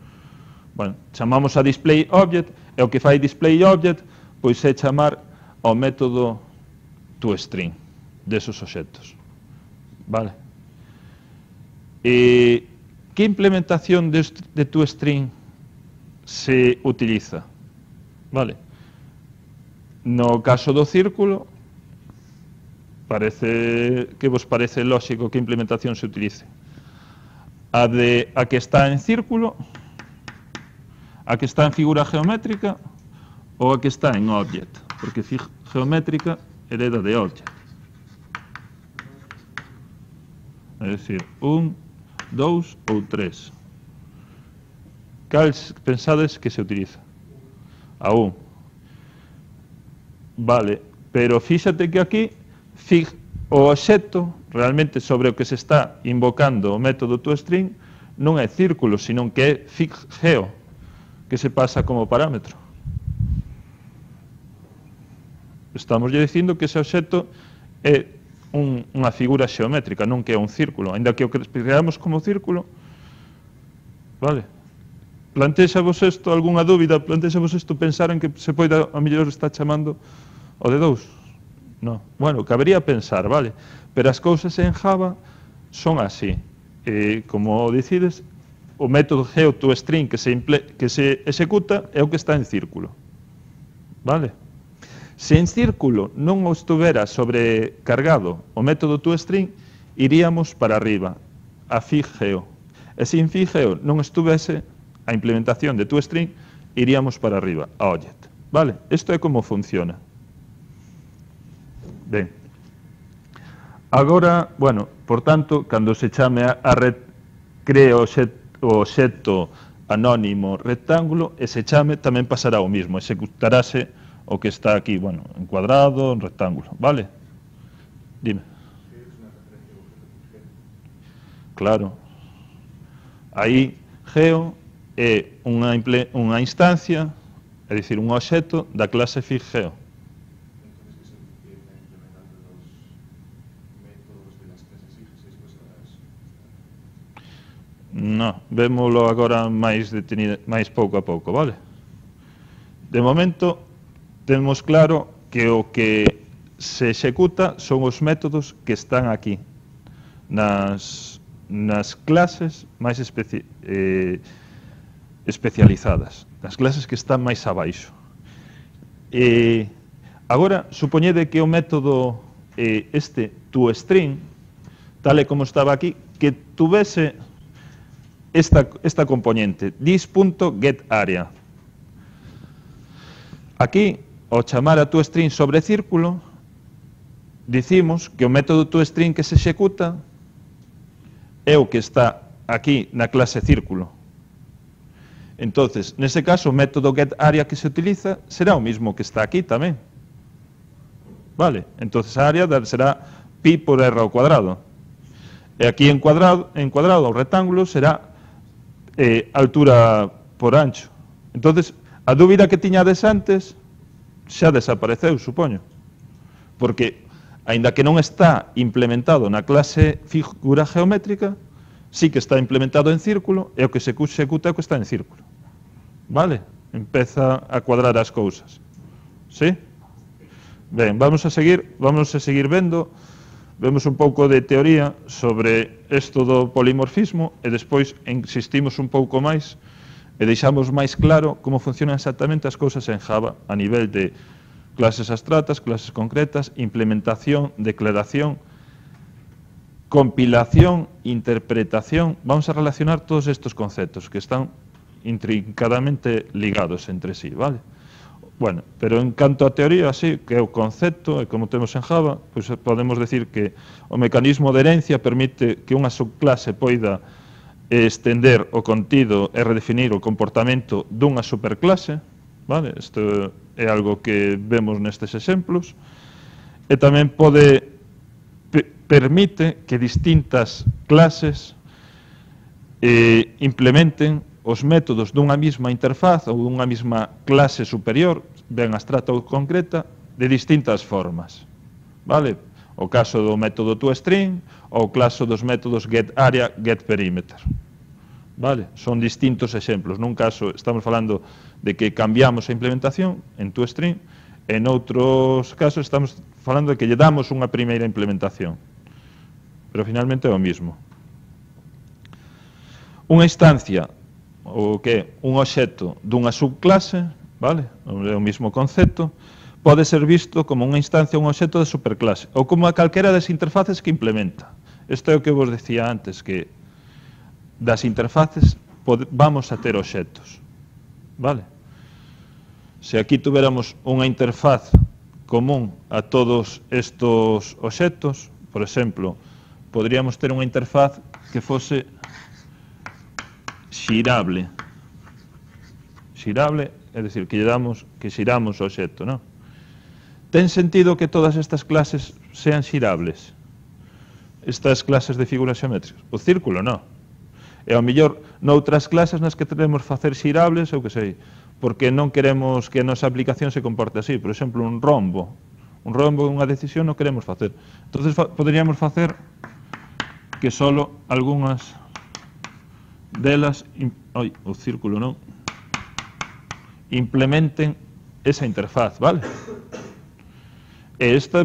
Bueno, chamamos a displayObject, e o que fai displayObject pois é chamar ao método toString desos obxectos. Vale? E que implementación de toString se utiliza? Vale? No caso do círculo, parece que vos parece lógico que a implementación se utilice a que está en círculo, a que está en figura geométrica ou a que está en object, porque geométrica hereda de object. É dicir, 1, 2 ou 3. Cal pensades que se utiliza? A 1. Vale, pero fíxate que aquí o obxecto realmente sobre o que se está invocando o método toString non é círculo, sino que é fig.geo, que se pasa como parámetro. Estamos dicindo que ese obxecto é unha figura xeométrica, non que é un círculo, ainda que o creamos como círculo. Vale? Plantexavos isto, algunha dúbida? Plantexavos isto, pensaron que se poida, a mellor está chamando o de 2? No. Bueno, cabería pensar, vale? Pero as cousas en Java son así. Como decides, o método geoToString que se executa é o que está en círculo. Vale? Se en círculo non estuvera sobrecargado o método toString, iríamos para arriba, a fig.geo. E se en fig.geo non estuvese a implementación de toString, iríamos para arriba, a object. Vale? Isto é como funciona. Ben. Agora, bueno, por tanto, cando se chame cree o obxecto anónimo rectángulo, ese chame tamén pasará o mismo, executarase o que está aquí, bueno, en cuadrado, en rectángulo, vale? Dime. Claro. Aí, geo é unha instancia, é dicir, un obxecto da clase fig.geo. No, vémolo agora máis pouco a pouco, vale? De momento, temos claro que o que se executa son os métodos que están aquí, nas clases máis especializadas, nas clases que están máis abaixo. Agora, supoñede que o método toString, tal e como estaba aquí, que tuvese esta componente, this.getArea. Aquí, ao chamar a toString sobre círculo, dicimos que o método toString que se executa é o que está aquí na clase círculo. Entonces, nese caso, o método getArea que se utiliza será o mismo que está aquí tamén. Vale? Entonces, a área será pi por r ao cuadrado. E aquí en cuadrado o rectángulo será altura por ancho. Entonces, a dúbida que tiñades antes xa desapareceu, supoño. Porque, aínda que non está implementado na clase figura geométrica, sí que está implementado en círculo, e o que se executa é o que está en círculo. Vale? Empeza a cuadrar as cousas. Sí? Ben, vamos a seguir vendo. Vemos un pouco de teoría sobre isto do polimorfismo e despois insistimos un pouco máis e deixamos máis claro como funcionan exactamente as cousas en Java a nivel de clases abstractas, clases concretas, implementación, declaración, compilación, interpretación. Vamos a relacionar todos estos conceptos que están intrincadamente ligados entre sí, vale? Bueno, pero en canto a teoría, así, que é o concepto, e como temos en Java, pois podemos decir que o mecanismo de herencia permite que unha subclase poida estender o contido e redefinir o comportamento dunha superclase, vale? Isto é algo que vemos nestes exemplos, e tamén permite que distintas clases implementen os métodos dunha mesma interfaz ou dunha mesma clase superior, ben abstracta ou concreta, de distintas formas. Vale? O caso do método toString ou o caso dos métodos getArea, getPerimeter. Vale? Son distintos exemplos. Nun caso estamos falando de que cambiamos a implementación en toString, en outros casos estamos falando de que lle damos unha primeira implementación. Pero finalmente é o mismo. Unha instancia o que é un obxecto dunha subclase, vale? É o mesmo concepto, pode ser visto como unha instancia ou un obxecto de superclase, ou como a calquera das interfaces que implementa. Isto é o que vos decía antes, que das interfaces vamos a ter obxectos. Vale? Se aquí tuviéramos unha interfaz común a todos estos obxectos, por exemplo, podríamos ter unha interfaz que fose xirable. Xirable, é dicir, que xiramos o obxecto, non? Ten sentido que todas estas clases sean xirables? Estas clases de figuras xeométricas? O círculo, non. E ao mellor noutras clases nas que queremos facer xirables, ou que sei, porque non queremos que a nosa aplicación se comporte así. Por exemplo, un rombo unha decisión non queremos facer. Entonces poderíamos facer que solo algunhas delas, o círculo non, implementen esa interfaz, vale? E esta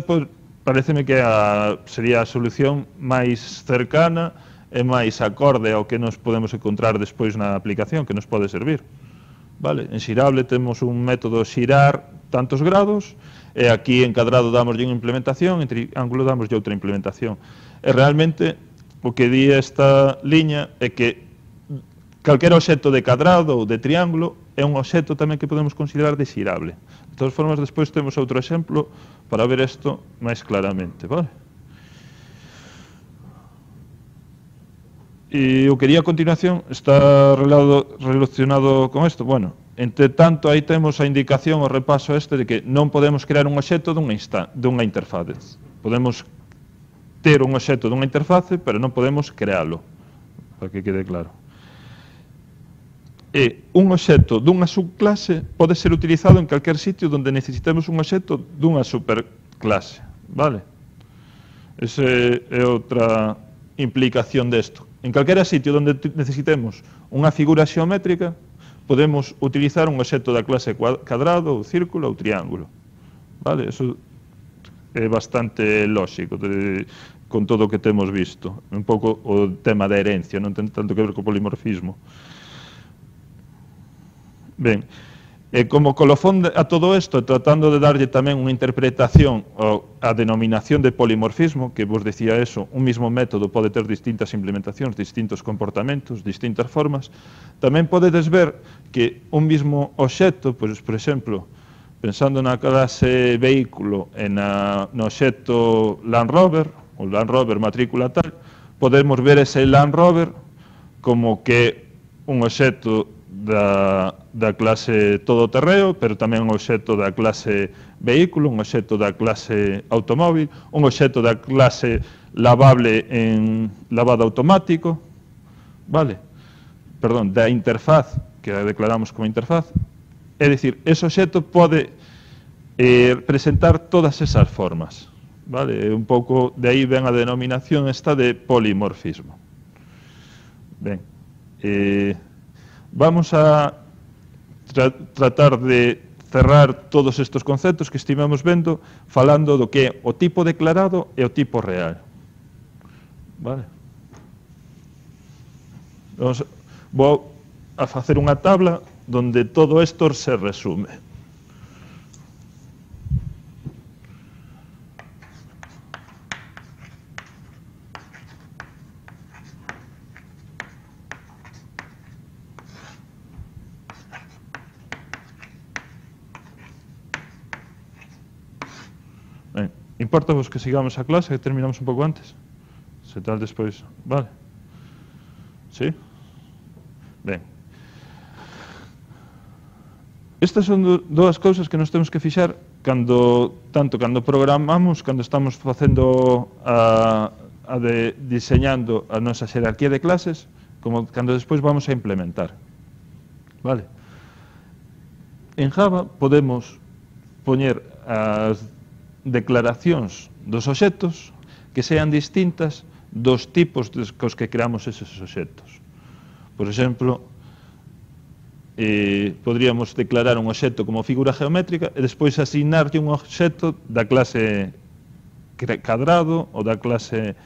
pareceme que sería a solución máis cercana e máis acorde ao que nos podemos encontrar despois na aplicación, que nos pode servir. Vale? En xirable temos un método xirar tantos grados, e aquí en cadrado damoslle unha implementación, en triángulo damoslle outra implementación. E realmente o que di esta liña é que calquera obxecto de cadrado ou de triángulo é un obxecto tamén que podemos considerar de xirable. De todas formas, despois temos outro exemplo para ver isto máis claramente. Vale? E o que di a continuación está relacionado con isto. Bueno, entre tanto, aí temos a indicación, o repaso este, de que non podemos crear un obxecto dunha interface. Podemos ter un obxecto dunha interface, pero non podemos crealo, para que quede claro. E un obxecto dunha subclase pode ser utilizado en calquer sitio onde necesitemos un obxecto dunha superclase. Vale? Esa é outra implicación desto. En calquera sitio onde necesitemos unha figura xeométrica, podemos utilizar un obxecto da clase cadrado, ou círculo, ou triángulo. Vale? Eso é bastante lóxico con todo o que temos visto. Un pouco o tema da herencia, non ten tanto que ver co polimorfismo. Ben, e como colofón a todo isto, tratando de darlle tamén unha interpretación á denominación de polimorfismo, que vos decía eso, un mismo método pode ter distintas implementacións, distintos comportamentos, distintas formas, tamén podedes ver que un mismo obxecto, pois, por exemplo, pensando na clase vehículo e no obxecto Land Rover, o Land Rover matrícula tal, podemos ver ese Land Rover como que un obxecto da clase todoterreo, pero tamén un obxecto da clase vehículo, un obxecto da clase automóvil, un obxecto da clase lavable en lavado automático, vale? Perdón, da interfaz, que a declaramos como interfaz. É dicir, ese obxecto pode presentar todas esas formas, vale? Un pouco de aí ven a denominación esta de polimorfismo. Ben, vamos a tratar de cerrar todos estes conceptos que estivemos vendo falando do que é o tipo declarado e o tipo real. Vale? Vou a facer unha tabla donde todo isto se resume. Importa vos que sigamos a clase, que terminamos un pouco antes? Se tal despois, vale? Sí? Ben. Estas son dúas cousas que nos temos que fixar tanto cando programamos, cando estamos facendo diseñando a nosa xerarquía de clases, como cando despois vamos a implementar. Vale? En Java podemos poñer as declaracións dos obxectos que sean distintas dos tipos cos que creamos eses obxectos. Por exemplo, podríamos declarar un obxecto como figura geométrica e despois asignarlle un obxecto da clase cadrado ou da clase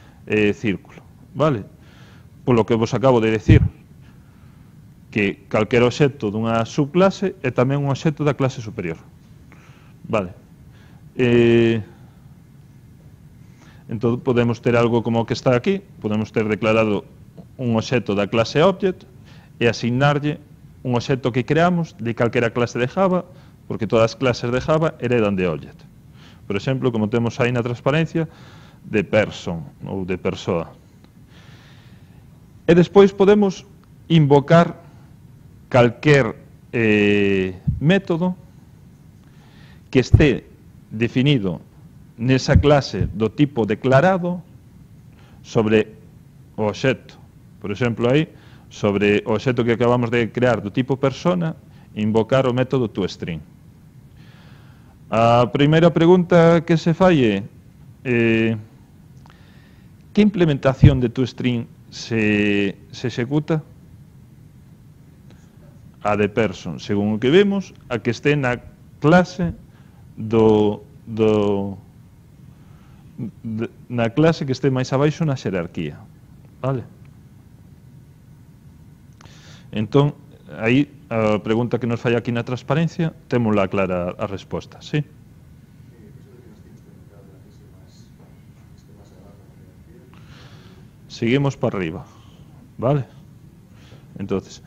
círculo. Vale? Polo que vos acabo de decir, que calquer obxecto dunha subclase é tamén un obxecto da clase superior. Vale? Entón, podemos ter algo como o que está aquí, podemos ter declarado un obxecto da clase Object e asignarlle un obxecto que creamos de calquera clase de Java, porque todas as clases de Java heredan de Object. Por exemplo, como temos aí na transparencia, de person ou de persoa. E despois podemos invocar calquer método que este definido nesa clase do tipo declarado sobre o obxecto. Por exemplo, aí, sobre o obxecto que acabamos de crear do tipo persona, invocar o método toString. A primeira pregunta que se fai é que implementación de toString se executa? A de person, según o que vemos, a que este na clase na clase que este máis abaixo na xerarquía. Vale? Entón, aí, a pregunta que nos fai aquí na transparencia, témola clara a resposta, sí? Seguimos para arriba, vale? Entonces,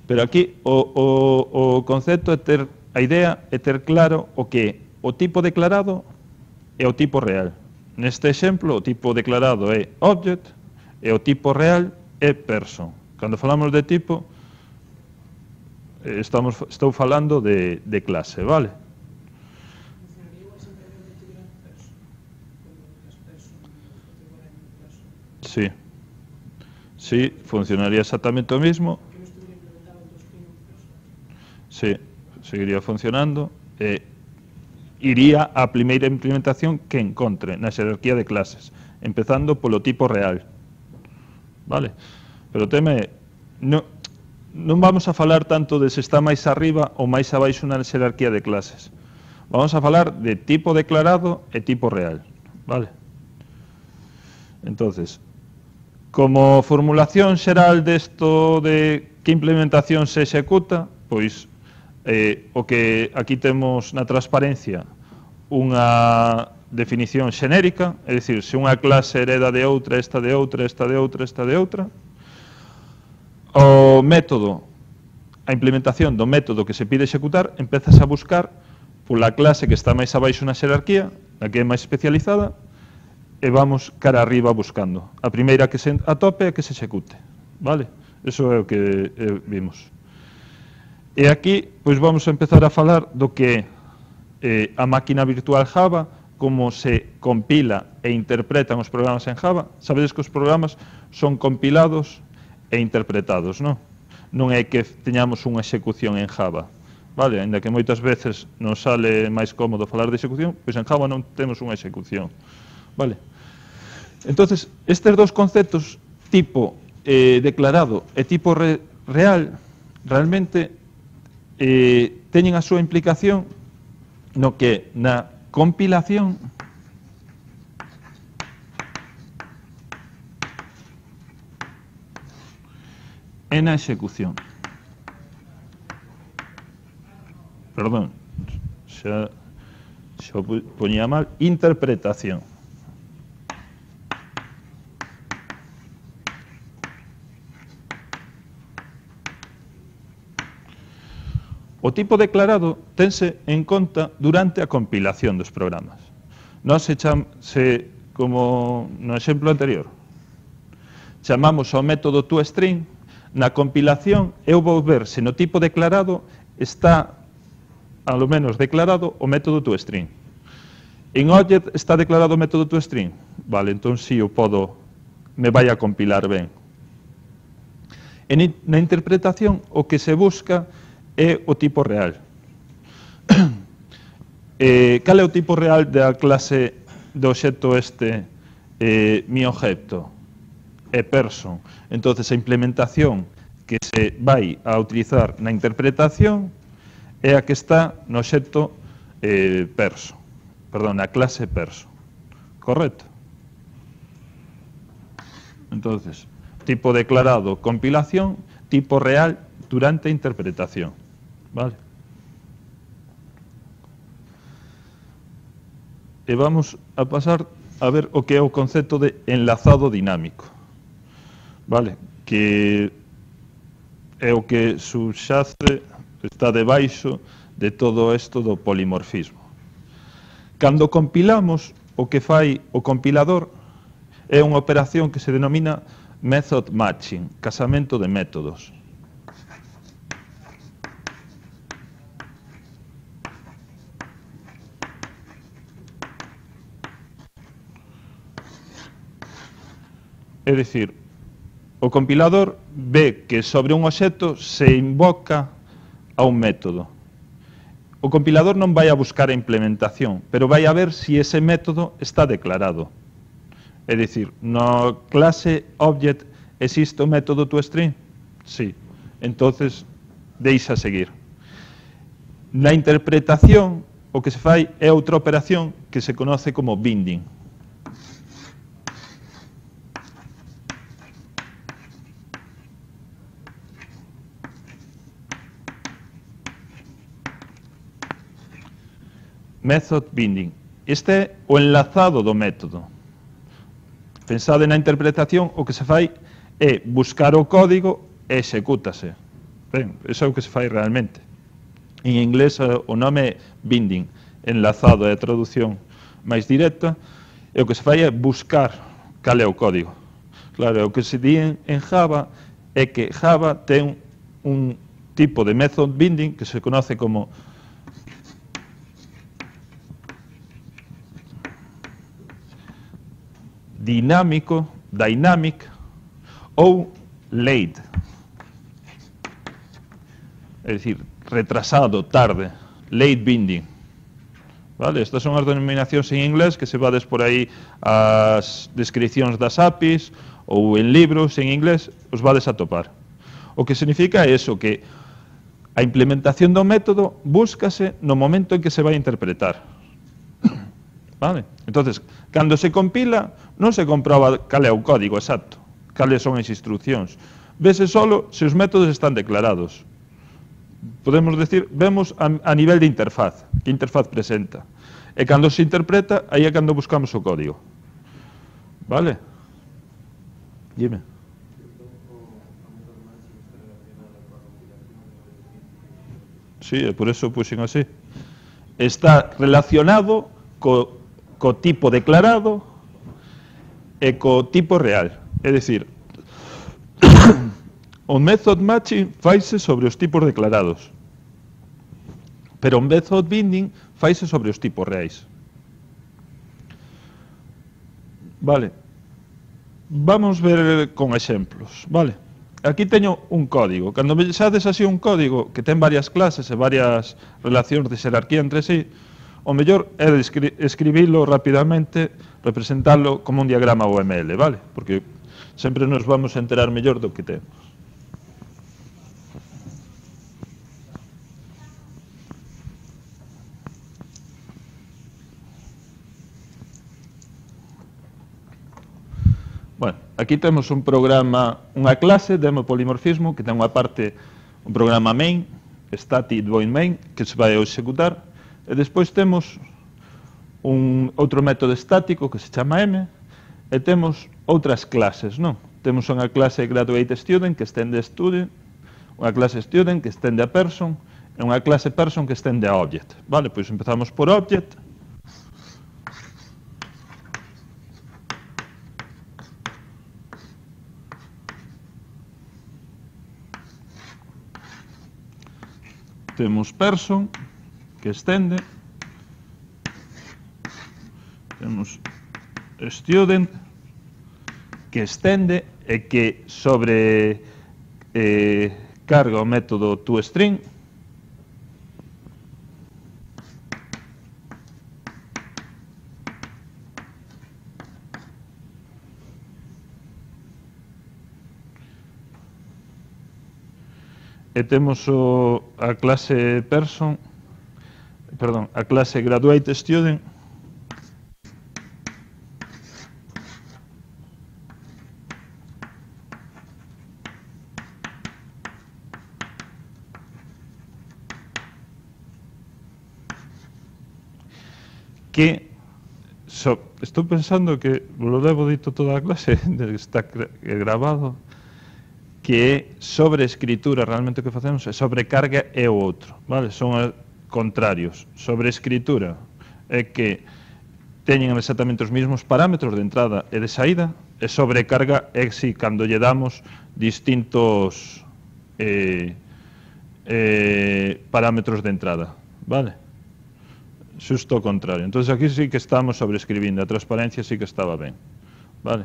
pero aquí o concepto é ter, a idea é ter claro o que o tipo declarado é o tipo real. Neste exemplo, o tipo declarado é object e o tipo real é person. Cando falamos de tipo, estou falando de clase, vale? Sí. Sí, funcionaría exactamente o mismo. Sí, seguiría funcionando. Iría á primeira implementación que encontre na xerarquía de clases, empezando polo tipo real. Vale? Pero o tema é, non vamos a falar tanto de se está máis arriba ou máis abaixo na xerarquía de clases. Vamos a falar de tipo declarado e tipo real. Vale? Entonces, como formulación xeral desto de que implementación se executa, pois o que aquí temos na transparencia unha definición xenérica, é dicir, se unha clase hereda de outra, esta de outra, esta de outra, esta de outra, o método, a implementación do método que se pide executar, empezas a buscar pola clase que está máis abaixo na xerarquía, a que é máis especializada, e vamos cara arriba buscando. A primeira que se atope é que se execute, vale? Eso é o que vimos. E aquí, pois vamos a empezar a falar do que é a máquina virtual Java, como se compila e interpretan os programas en Java. Sabedes que os programas son compilados e interpretados, non? Non é que teñamos unha execución en Java, vale? Ainda que moitas veces nos sale máis cómodo falar de execución, pois en Java non temos unha execución. Vale. Entonces, estes dos conceptos, tipo declarado e tipo real, realmente teñen a súa implicación no que na compilación e na execución. Perdón, xa poñía mal, interpretación. O tipo declarado tense en conta durante a compilación dos programas. Nós como no exemplo anterior, chamamos ao método toString, na compilación eu vou ver se no tipo declarado está, ao menos declarado, o método toString. En Object está declarado o método toString? Vale, entón si eu podo, me vai a compilar ben. E na interpretación o que se busca é o tipo real. Cal é o tipo real da clase do obxecto este mi objeto? É person. Entonces a implementación que se vai a utilizar na interpretación é a que está no obxecto person. Perdón, na clase person. Correcto? Entonces, tipo declarado, compilación, tipo real durante a interpretación. Vale. e vamos a pasar a ver o que é o concepto de enlazado dinámico, vale? Que é o que subxace, está debaixo de todo isto do polimorfismo. Cando compilamos, o que fai o compilador é unha operación que se denomina method matching, casamento de métodos. É dicir, o compilador ve que sobre un obxecto se invoca a un método. O compilador non vai a buscar a implementación, pero vai a ver se ese método está declarado. É dicir, na clase object existe o método toString? Sí. Entonces, deixa seguir. Na interpretación, o que se fai é outra operación que se conoce como binding. Method binding. Este é o enlazado do método. Pensade na interpretación, o que se fai é buscar o código e execútase. Ben, iso é o que se fai realmente. En inglés o nome é binding, enlazado, é a traducción máis directa, e o que se fai é buscar cal é o código. Claro, o que se di en Java é que Java ten un tipo de method binding que se conoce como dinámico, dynamic ou late. É dicir, retrasado, tarde, late binding. Vale? Estas son as denominacións en inglés que se vades por aí as descripcións das APIs ou en libros en inglés, os vades a topar. O que significa é eso, que a implementación do método búscase no momento en que se vai interpretar. Vale? Entonces, cando se compila, non se comproba cal é o código exacto, cales son as instruccións. Vese solo se os métodos están declarados. Podemos decir, vemos a nivel de interfaz, que interfaz presenta. E cando se interpreta, aí é cando buscamos o código. Vale? Dime. Sí, por eso puxen así. Está relacionado co tipo declarado e co tipo real. É dicir, o method matching faise sobre os tipos declarados, pero o method binding faise sobre os tipos reais. Vale. Vamos ver con exemplos, vale? Aquí teño un código. Cando vexades así un código que ten varias clases e varias relacións de xerarquía entre sí, o mellor é escribilo rapidamente, representarlo como un diagrama UML, vale? Porque sempre nos vamos a enterar mellor do que temos. Bueno, aquí temos un programa, unha clase de polimorfismo que ten unha parte, un programa main, static void main, que se vai a executar. E despois temos outro método estático que se chama M, e temos outras clases, non? Temos unha clase graduate student que estende a student, unha clase student que estende a person, e unha clase person que estende a object. Vale, pois empezamos por object. Temos person, que estende, temos student, que estende e que sobre carga o método toString, e temos a clase person, perdón, a clase graduate student, que estou pensando que lo levo dito toda a clase, está grabado, que é sobreescritura, realmente o que facemos é sobrecarga é o outro, vale? Son contrarios. Sobreescritura é que teñen exactamente os mesmos parámetros de entrada e de saída, e sobrecarga é si cando lle damos distintos parámetros de entrada, vale? Xusto o contrario. Entonces aquí sí que estamos sobreescribindo, a transparencia sí que estaba ben, vale?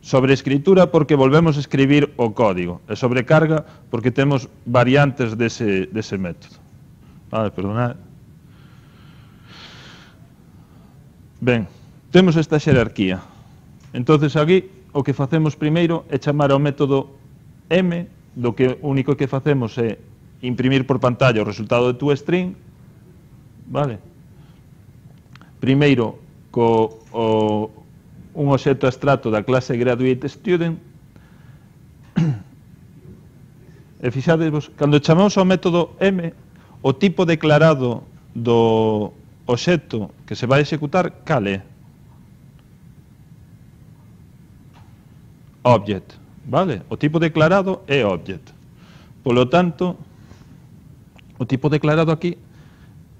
Sobreescritura porque volvemos a escribir o código, e sobrecarga porque temos variantes dese método. Vale, perdonad. Ben, temos esta xerarquía. Entonces aquí o que facemos primeiro é chamar ao método M, do que único que facemos é imprimir por pantalla o resultado de toString, vale? Primeiro un obxecto abstracto da clase GraduateStudent, e fixadevos, cando chamamos ao método M, o tipo declarado do obxecto que se vai executar, cal é? Object, vale? O tipo declarado é object. Polo tanto, o tipo declarado aquí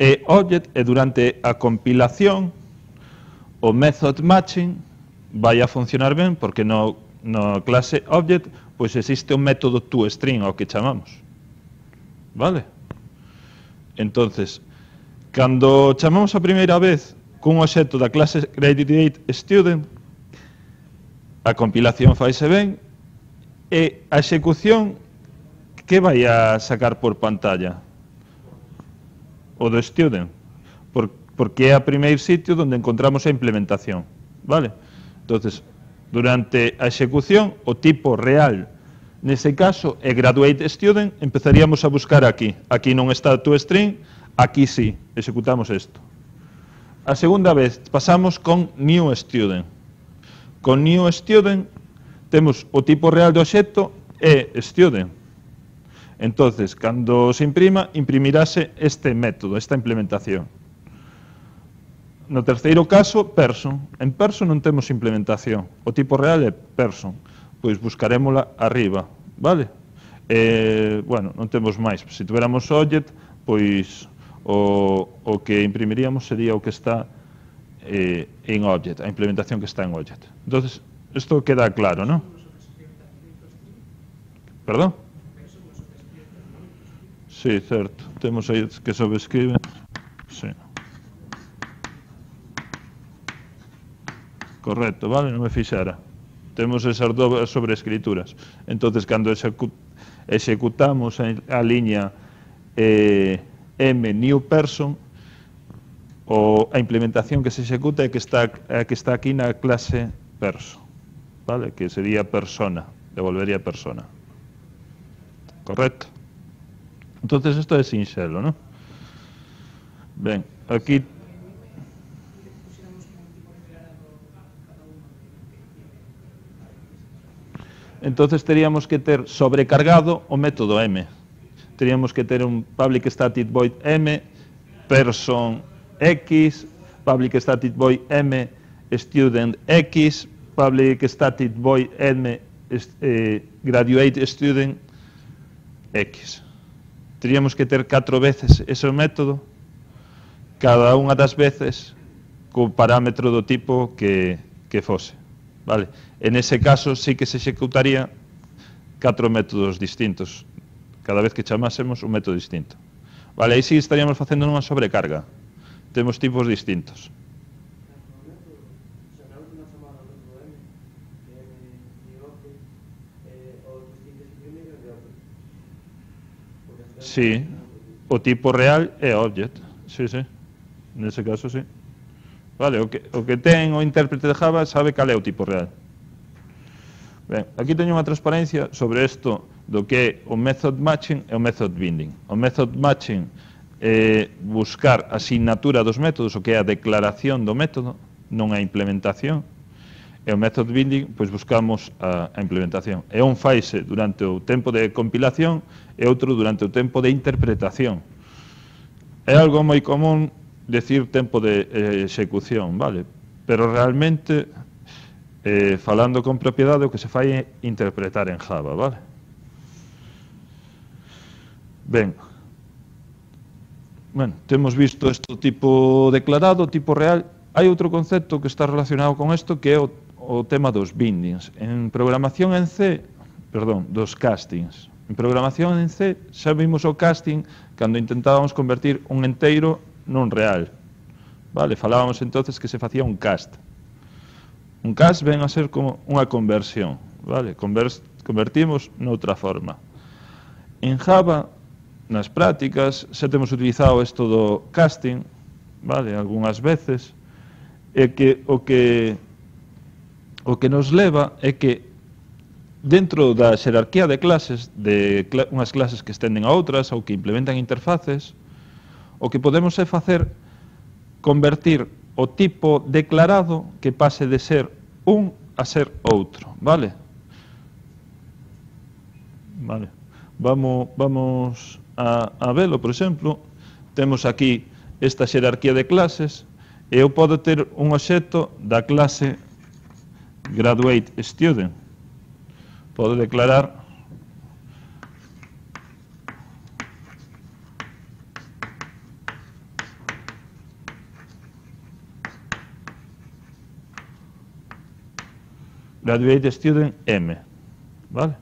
é object, e durante a compilación o method matching vai a funcionar ben, porque no clase object pois existe un método toString ao que chamamos, vale? Entonces, cando chamamos a primeira vez cun obxecto da clase GraduateStudent, a compilación faise ben, e a execución que vai a sacar por pantalla? O do student, porque é o primeiro sitio onde encontramos a implementación, vale? Entonces, durante a execución, o tipo real nese caso é GraduateStudent, empezaríamos a buscar aquí. Aquí non está toString, aquí sí, executamos isto. A segunda vez pasamos con newStudent. Con newStudent temos o tipo real do obxecto é student. Entonces, cando se imprima, imprimirase este método, esta implementación. No terceiro caso, person. En person non temos implementación. O tipo real é person. Pois buscarémola arriba, vale? Bueno, non temos máis. Se tuviéramos object, pois o que imprimiríamos sería o que está en object, a implementación que está en object. Entonces, isto queda claro, non? Perdón? Sí, certo. Temos aí que sobrescriben. Sí. Correcto, vale? Non me fixara. Temos esas dúas sobreescrituras. Entonces, cando executamos a liña M new person, a implementación que se executa é que está aquí na clase person, vale? Que sería persona, devolvería persona. Correcto? Entonces, isto é sinxelo, non? Ben, aquí... Entonces teríamos que ter sobrecargado o método M. Teríamos que ter un public static void M, person X, public static void M, student X, public static void M, graduate student X. Teríamos que ter 4 veces ese método, cada unha das veces co parámetro do tipo que fose, vale? En ese caso sí que se executaría 4 métodos distintos, cada vez que chamásemos un método distinto, vale? Aí sí estaríamos facendo unha sobrecarga, temos tipos distintos. Sí, o tipo real é object, sí, sí, nese caso sí. Vale, o que ten o intérprete de Java sabe cal é o tipo real. Ben, aquí teño unha transparencia sobre isto do que é o method matching e o method binding. O method matching é buscar a asignatura dos métodos, o que é a declaración do método, non a implementación. E o method binding, pois buscamos a implementación. E un faise durante o tempo de compilación e outro durante o tempo de interpretación. É algo moi común decir tempo de execución, vale? pero realmente, falando con propiedade, o que se fai é interpretar en Java, vale? Ben, bueno, temos visto este tipo declarado, tipo real. Hai outro concepto que está relacionado con isto, que é o tema dos bindings. En programación en C, perdón, dos castings. En programación en C xa vimos o casting cando intentábamos convertir un enteiro nun real. Vale, falábamos entonces que se facía un cast. Un cast ven a ser como unha conversión, vale? Convertimos noutra forma. En Java, nas prácticas, xa temos utilizado isto do casting, vale, algunhas veces, e que o que nos leva é que dentro da xerarquía de clases, de unhas clases que estenden a outras ou que implementan interfaces, o que podemos é facer convertir o tipo declarado que pase de ser un a ser outro, vale? Vale. Vamos a velo, por exemplo, temos aquí esta xerarquía de clases e eu podo ter un obxecto da clase graduate student. Podo declarar graduate student M, vale?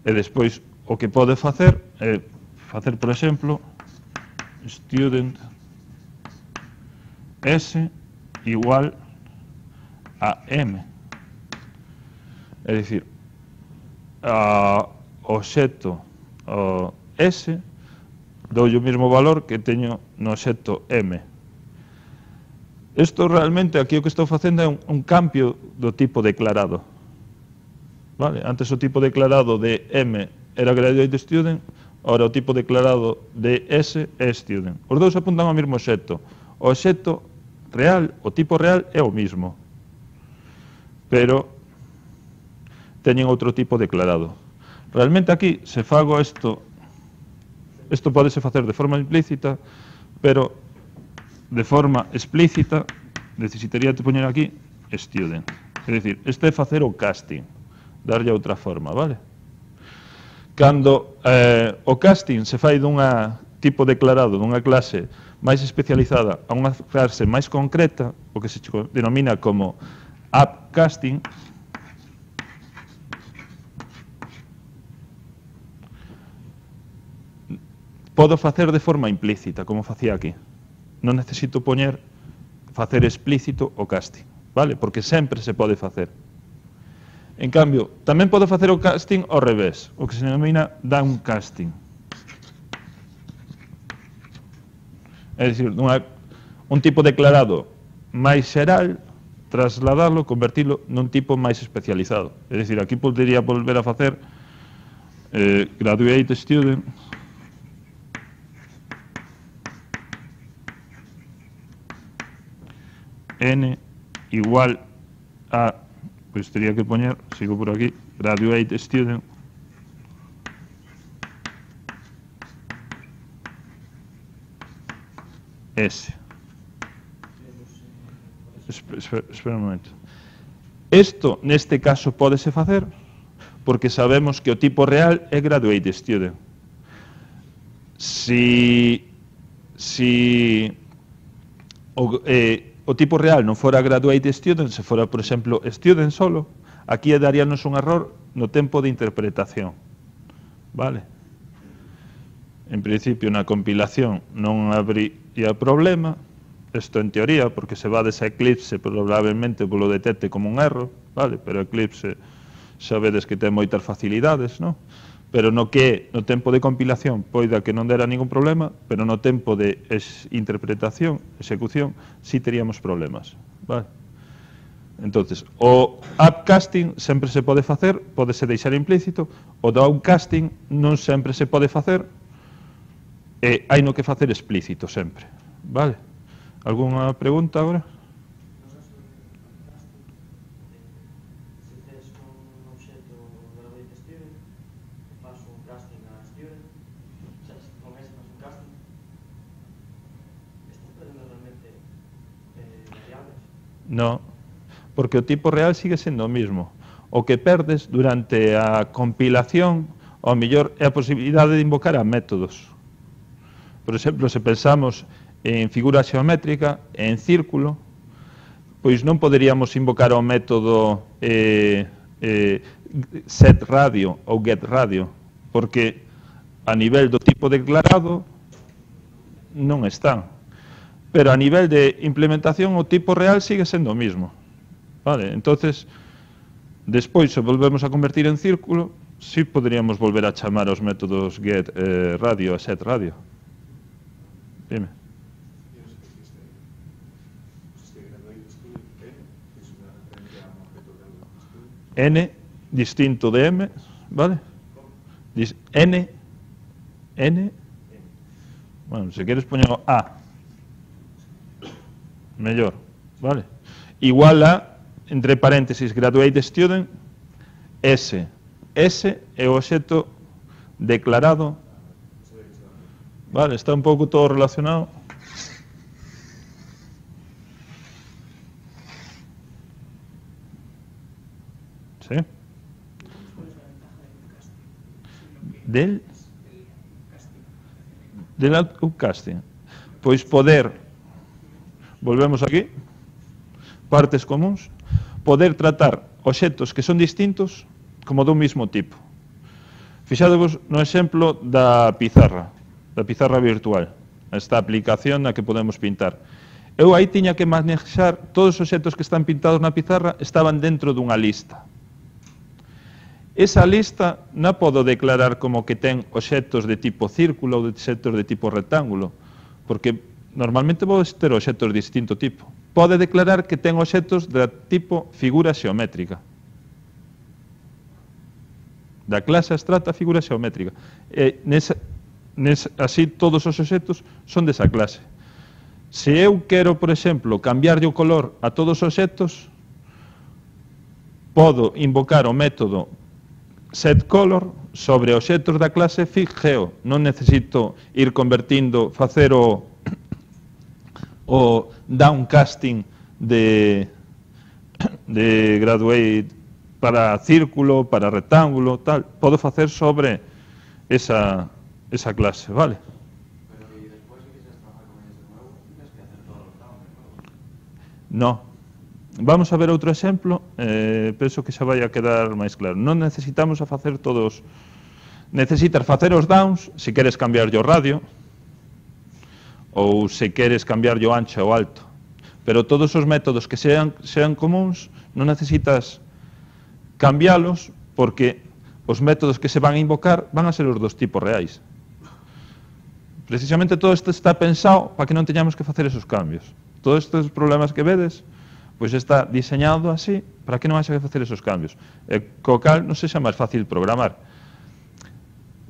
E despois o que pode facer é facer, por exemplo, student S igual a M. É dicir, o obxecto S dou o mesmo valor que teño no obxecto M. Isto realmente aquí o que estou facendo é un cambio do tipo declarado. Vale? Antes o tipo declarado de M era graduate student, ora o tipo declarado de S é student. Os dous apuntan ao mesmo obxecto. O obxecto real, o tipo real é o mismo, pero teñen outro tipo declarado. Realmente aquí, se fago isto podese facer de forma implícita, pero de forma explícita necesitaría de poñer aquí student. É dicir, este é facer o casting, darlle outra forma, vale? Cando o casting se fai dunha tipo declarado, dunha clase máis especializada a unha clase máis concreta, o que se denomina como app casting, podo facer de forma implícita, como facía aquí. Non necesito facer explícito o casting, vale? Porque sempre se pode facer. En cambio, tamén podo facer o casting ao revés, o que se denomina downcasting. É dicir, un tipo declarado máis xeral, trasladarlo, convertirlo nun tipo máis especializado. É dicir, aquí podería volver a facer graduate student n igual a, pois teria que poñer, sigo por aquí, graduate student S. Espera un momento. Isto, neste caso, pódese facer porque sabemos que o tipo real é graduate student. Si o tipo real non fora graduate student, se fora, por exemplo, student solo, aquí daríanos un error no tempo de interpretación. Vale? En principio, na compilación non habría problema, isto en teoría, porque se vades a Eclipse probablemente polo detecte como un erro, vale? Pero Eclipse xa vedes que ten moitas facilidades, non? Pero no que no tempo de compilación poida que non dera ningún problema, pero no tempo de interpretación, execución, sí teríamos problemas, vale? Entonces, o upcasting sempre se pode facer, podese deixar implícito, o downcasting non sempre se pode facer, e hai no que facer explícito sempre, vale? Alguna pregunta agora? No, porque o tipo real sigue sendo o mismo. O que perdes durante a compilación, ao mellor, é a posibilidade de invocar a métodos. Por exemplo, se pensamos en figura xeométrica, en círculo, pois non poderíamos invocar o método setRadio ou getRadio, porque a nivel do tipo declarado non están. Pero a nivel de implementación o tipo real sigue sendo o mismo. Vale, entonces, despois, se volvemos a convertir en círculo, sí poderíamos volver a chamar os métodos getRadio e setRadio. Dime. N distinto de M, ¿vale? N, bueno, si quieres poñer A, mellor, ¿vale? Igual a, entre paréntesis, graduate student, S é o obxecto declarado, vale, está un pouco todo relacionado. ¿Sí? Del upcasting. Pois poder, volvemos aquí, partes comuns, poder tratar obxectos que son distintos como dun mismo tipo. Fixadevos no exemplo da pizarra virtual, esta aplicación na que podemos pintar. Eu aí tiña que manexar todos os obxectos que están pintados na pizarra estaban dentro dunha lista. Esa lista non podo declarar como que ten obxectos de tipo círculo ou obxectos de tipo rectángulo, porque normalmente vou ter obxectos de distinto tipo. Pode declarar que ten obxectos de tipo figura xeométrica. Da clase abstracta figura xeométrica. Así todos os obxectos son desa clase. Se eu quero, por exemplo, cambiarlle o color a todos os obxectos, podo invocar o método setColor sobre obxectos da clase FigGeo. Non necesito ir convertindo, facer o downcasting de graduate para círculo, para rectángulo, tal. Podo facer sobre esa clase, vale? Pero y después si quieres trabajar con ellos de nuevo, tienes que hacer todos los dados de nuevo. No. Vamos a ver outro exemplo, penso que xa vai a quedar máis claro. Non necesitamos a facer todos, necesitas facer os downs se queres cambiar o radio ou se queres cambiar o ancho ou alto, pero todos os métodos que sean comuns non necesitas cambialos porque os métodos que se van a invocar van a ser os dos tipos reais. Precisamente todo isto está pensado para que non teñamos que facer esos cambios. Todos estes problemas que vedes, pois está diseñado así para que non haxa que facer esos cambios. Co cal non sexa máis fácil programar.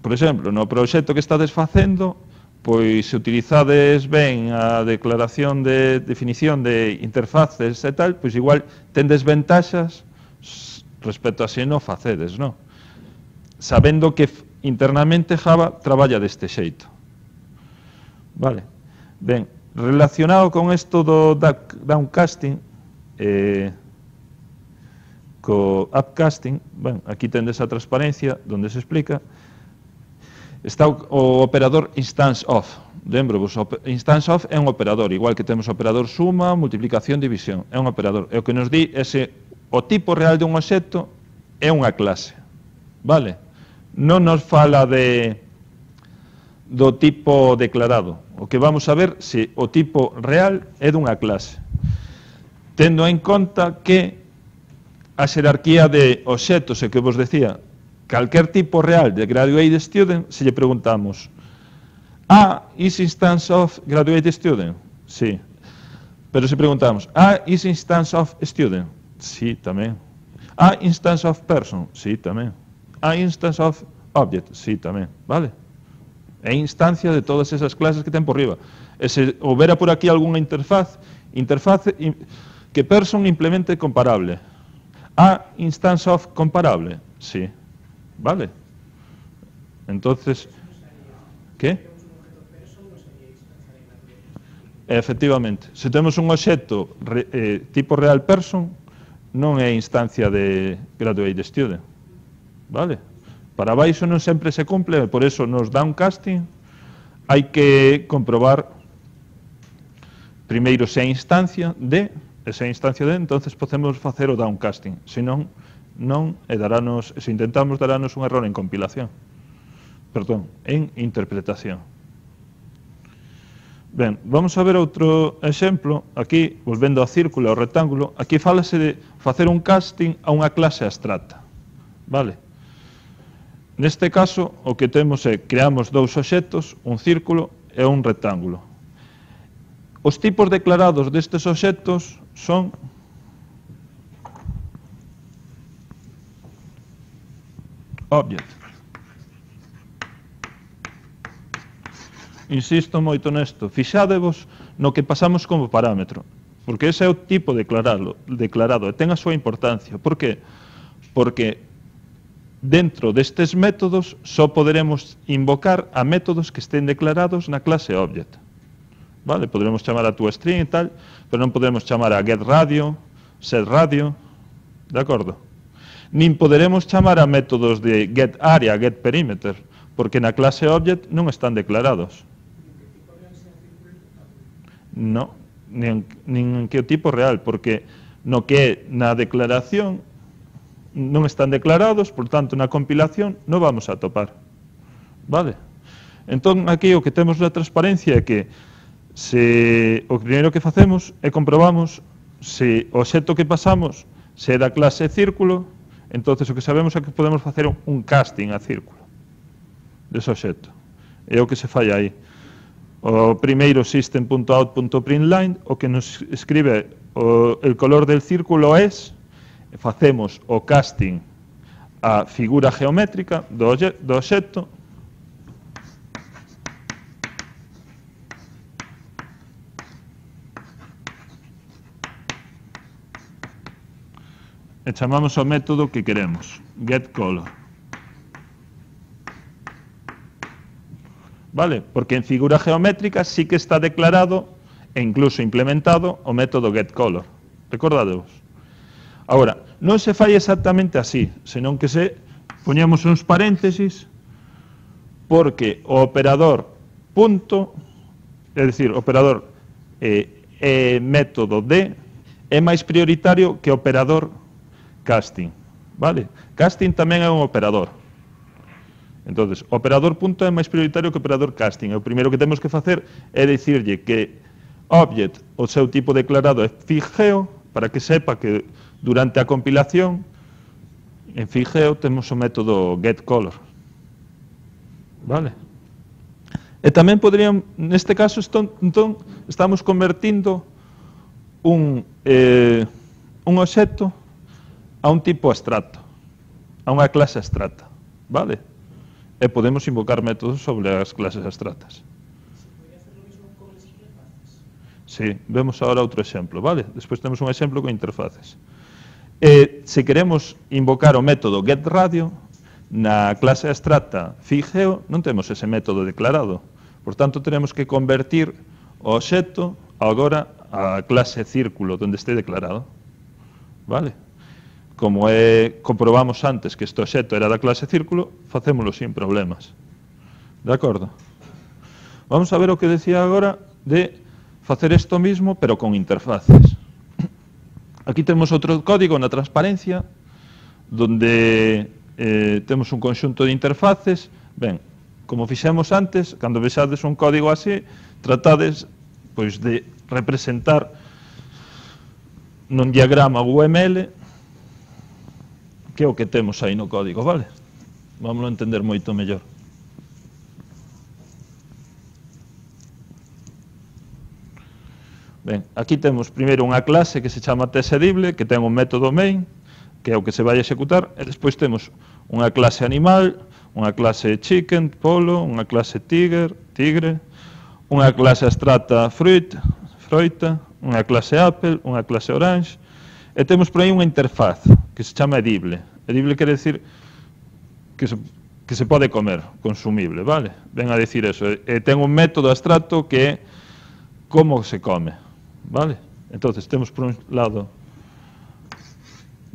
Por exemplo, no proxecto que estades facendo, pois se utilizades ben a declaración de definición de interfaces e tal, pois igual tendes ventaxas respecto a se non facedes, non? Sabendo que internamente Java traballa deste xeito. Vale. Ben, relacionado con isto do downcasting, co upcasting, ben, aquí tendes a transparencia onde se explica, está o operador instance of. Lembro-vos, instance of é un operador, igual que temos operador suma, multiplicación, división, é un operador. E o que nos di é se o tipo real de un obxecto é unha clase, vale? Non nos fala do tipo declarado. O que vamos a ver se o tipo real é dunha clase, tendo en conta que a xerarquía de obxectos, e que vos decía, calquer tipo real de graduate student, se lle preguntamos is instance of graduate student? Sí. Pero se preguntamos, is instance of student? Sí, tamén. Instance of person? Sí, tamén. Instance of object? Sí, tamén. Vale? É instancia de todas esas clases que ten por riba. E se houbera por aquí algunha interfaz que person implemente comparable. Instance of comparable? Sí. Vale? Entonces, ¿qué? Efectivamente. Se temos un obxecto tipo real person, non é instancia de graduate student, vale? Para baixo non sempre se cumple, por eso nos downcasting hai que comprobar primeiro se é instancia de, entonces podemos facer o downcasting, senón non, e darános, se intentamos darános un error en compilación, perdón, en interpretación. Ben, vamos a ver outro exemplo, aquí, volvendo ao círculo, ao rectángulo, aquí fálase de facer un casting a unha clase abstracta, vale? Neste caso, o que temos é, creamos dous obxectos, un círculo e un rectángulo. Os tipos declarados destes obxectos son object. Insisto moito nesto, fixádevos no que pasamos como parámetro, porque ese é o tipo declarado, e ten a súa importancia. Por que? Porque dentro destes métodos só poderemos invocar a métodos que estén declarados na clase object. Vale? Poderemos chamar a toString e tal, pero non podemos chamar a getRadio, setRadio, de acordo? Nin poderemos chamar a métodos de getArea, getPerimeter, porque na clase object non están declarados. Non, nin en que o tipo real, porque no que é na declaración non están declarados, por tanto na compilación non vamos a topar. Vale? Entón aquí o que temos na transparencia é que o primeiro que facemos é comprobamos se o obxecto que pasamos se é da clase círculo, entonces o que sabemos é que podemos facer un casting a círculo dese obxecto. É o que se fai aí. O primeiro system.out.println o que nos escribe el color del círculo es, facemos o casting a figura geométrica do obxecto e chamamos ao método que queremos, getColor. Vale? Porque en figura geométrica sí que está declarado e incluso implementado o método getColor. Recordadevos. Agora, non se fai exactamente así, senón que se poñemos uns paréntesis porque o operador punto, é dicir, o operador método de é máis prioritario que o operador casting. Vale? Casting tamén é un operador. Entonces, o operador punto é máis prioritario que o operador casting. O primeiro que temos que facer é dicirlle que object, o seu tipo declarado é figeo, para que sepa que durante a compilación en figeo temos o método getColor. Vale? E tamén poderían, neste caso, entón, estamos convertindo un obxecto a un tipo abstracto, a unha clase abstracta. Vale? E podemos invocar métodos sobre as clases abstractas. ¿Se podría hacer lo mismo con las interfaces? Sí, vemos ahora outro exemplo, vale? Despois temos un exemplo con interfaces. Se queremos invocar o método getRadio na clase abstracta figeo, non temos ese método declarado. Por tanto, teremos que convertir o obxecto agora a clase círculo, onde este declarado. Vale? Como comprobamos antes que este obxecto era da clase círculo, facémolo sin problemas. De acordo? Vamos a ver o que decía agora de facer isto mismo, pero con interfaces. Aquí temos outro código na transparencia, donde temos un conxunto de interfaces. Ben, como fixemos antes, cando vexades un código así, tratades pois, de representar nun diagrama UML que é o que temos aí no código, vale? Vamos a entender moito mellor. Ben, aquí temos primeiro unha clase que se chama testedible, que ten un método main, que é o que se vai executar, e despois temos unha clase animal, unha clase chicken, polo, unha clase tigre, unha clase abstracta froita, unha clase apple, unha clase orange, e temos por aí unha interfaz que se chama edible. Edible quere decir que se pode comer, consumible, vale? Ven a decir eso. E ten un método abstracto que é como se come, vale? Entonces, temos por un lado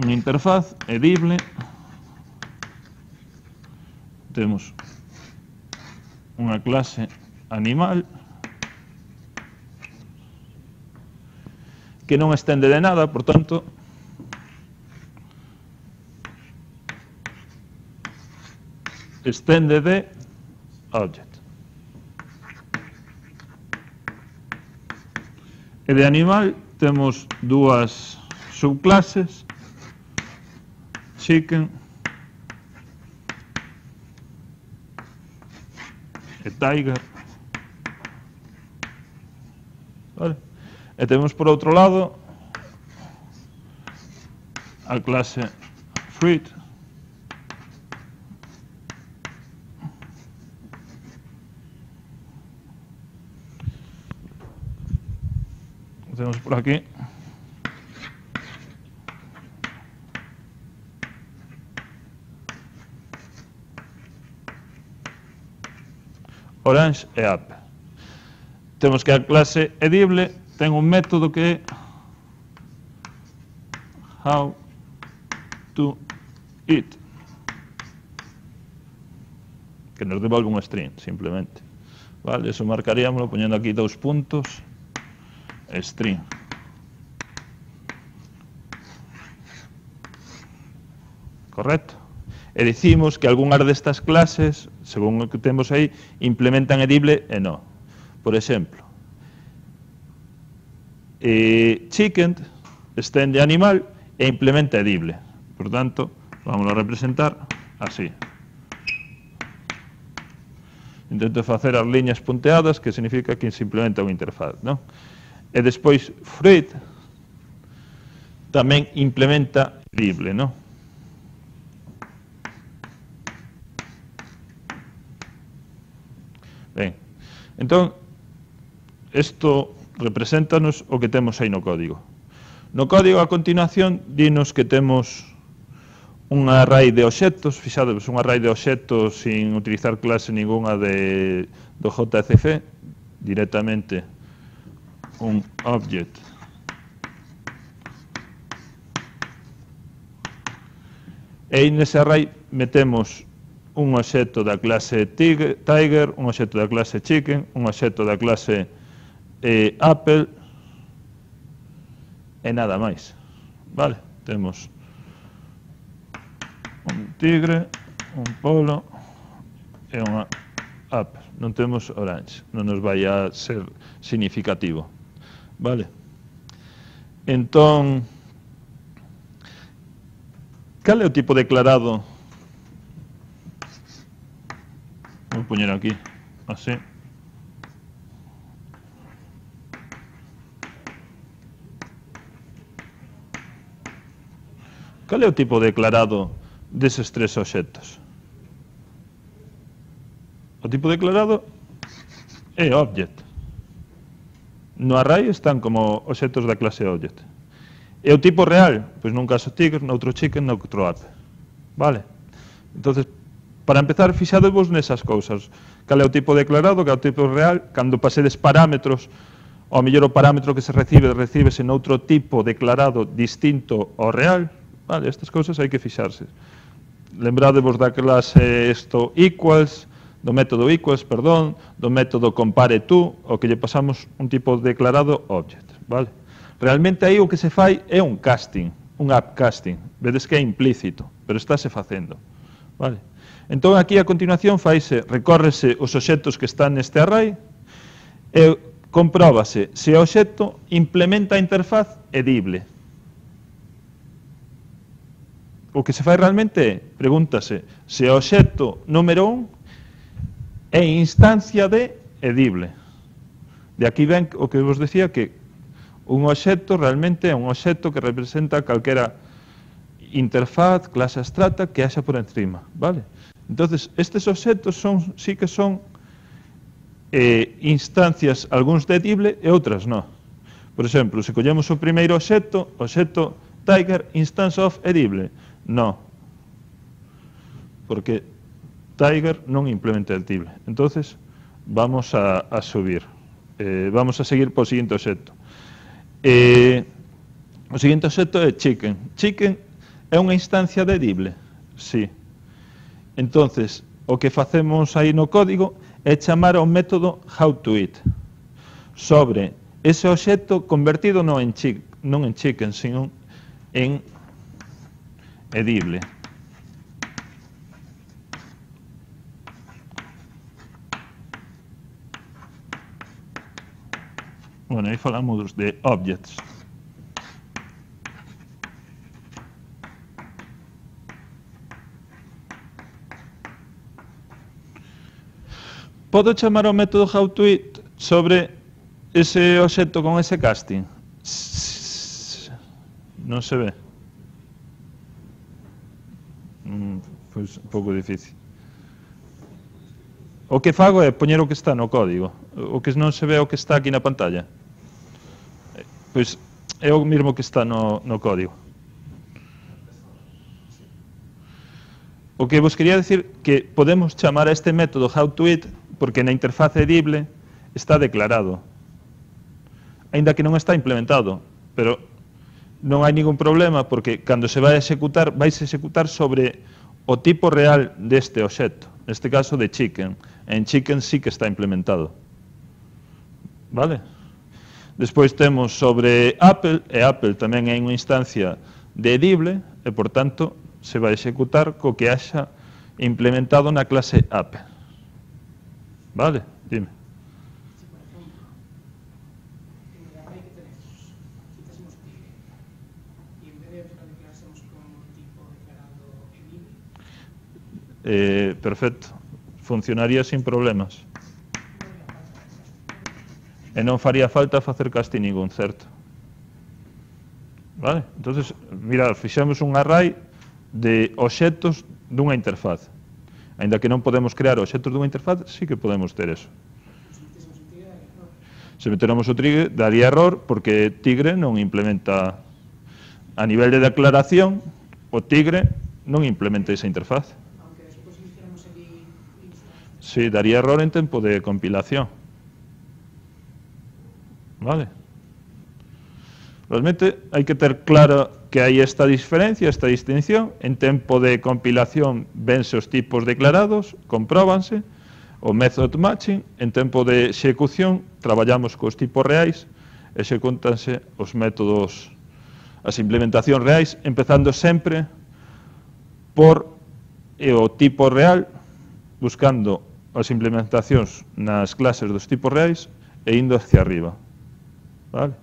unha interfaz edible, temos unha clase animal que non estende de nada, por tanto, estende de object. E de animal temos dúas subclases, chicken e tiger. Vale? E temos por outro lado a clase fruit, temos por aquí orange e apple. Temos que a clase edible ten un método que é how to eat, que nos devolve un string, simplemente. Vale, eso marcaríamoslo poñendo aquí 2 puntos, string. Correcto? E dicimos que algunhas destas clases, según o que temos aí, implementan edible e non. Por exemplo, chicken estende animal e implementa edible. Por tanto, vamos a representar así. Intento facer as liñas punteadas, que significa que se implementa unha interfaz, non? E despois, fruit tamén implementa edible, non? Ben, entón, isto represéntanos o que temos aí no código. No código, a continuación, dinos que temos un array de obxectos, fixadevos, un array de obxectos sin utilizar clase ninguna do JCC, directamente un object e nese array metemos un obxecto da clase tiger, un obxecto da clase chicken, un obxecto da clase apple e nada máis. Vale, temos un tigre, un polo e unha apple. Non temos orange, non nos vai a ser significativo. Vale? Entón, cal é o tipo declarado? Vou poñer aquí, así. Cal é o tipo declarado deses 3 obxectos? O tipo declarado é object. No array están como obxectos da clase object. E o tipo real? Pois nun caso tiger, noutro chicken, noutro apple. Vale? Entonces, para empezar, fixadevos nesas cousas. Cal é o tipo declarado, cal é o tipo real, cando pasedes parámetros, ao mellor o parámetro que se recíbese noutro tipo declarado distinto ao real. Vale, estas cousas hai que fixarse. Lembradevos da clase equals, do método equals, perdón, do método compare to, o que lle pasamos un tipo declarado object, vale? Realmente aí o que se fai é un casting, un upcasting. Vedes que é implícito, pero estáse facendo, vale? Entón aquí a continuación recórrese os obxectos que están neste array e compróbase se o obxecto implementa a interfaz edible. O que se fai realmente é, pregúntase, se o obxecto número 1 é instancia de edible. De aquí ven o que vos decía que un obxecto realmente é un obxecto que representa calquera interfaz, clase abstracta que haxa por encima, vale? Entonces, estes obxectos sí que son instancias, algúns de edible e outras non. Por exemplo, se collemos o primeiro obxecto, o obxecto tiger instance of edible, non, porque tiger non implementa edible. Entonces, vamos a subir, vamos a seguir por seguinte obxecto. O seguinte obxecto é chicken. Chicken É unha instancia de edible? Sí. Entonces, o que facemos aí no código é chamar ao método howToIt sobre ese obxecto convertido non en chicken, sino en edible. Bueno, aí falamos de objects. Podo chamar ao método howToIt sobre ese obxecto con ese casting? Non se ve. Pois un pouco difícil. O que fago é poñer o que está no código. O que non se ve é o que está aquí na pantalla. Pois é o mesmo que está no código. O que vos quería decir que podemos chamar a este método howToIt porque na interfaz edible está declarado, aínda que non está implementado, pero non hai ningún problema porque cando se vai a executar, vais a executar sobre o tipo real deste obxecto, neste caso de chicken. En chicken sí que está implementado. Vale? Despois temos sobre Apple, e Apple tamén é unha instancia de edible, e por tanto se vai executar co que haxa implementado na clase Apple. Vale? Dime. Si, por ejemplo, en el array que tenemos, quitásemos tigre y en vez de lo declarásemos con un tipo declarado edible. Perfecto. Funcionaría sin problemas. E non faría falta facer casting ningún, certo? Vale? Entonces, mirad, fixemos un array de obxectos dunha interfaz. Ainda que non podemos crear obxectos dunha interfaz, sí que podemos ter eso. Se meteramos o tigre, daría error, porque tigre non implementa, a nivel de declaración, o tigre non implementa esa interfaz. Aunque despois hiciéramos el Sí, daría error en tempo de compilación. Vale? Realmente hai que ter claro que hai esta diferencia, esta distinción. En tempo de compilación vense os tipos declarados, compróbanse, o method matching. En tempo de execución traballamos cos tipos reais, execúntanse os métodos, as implementacións reais, empezando sempre por o tipo real, buscando as implementacións nas clases dos tipos reais e indo hacia arriba. Vale?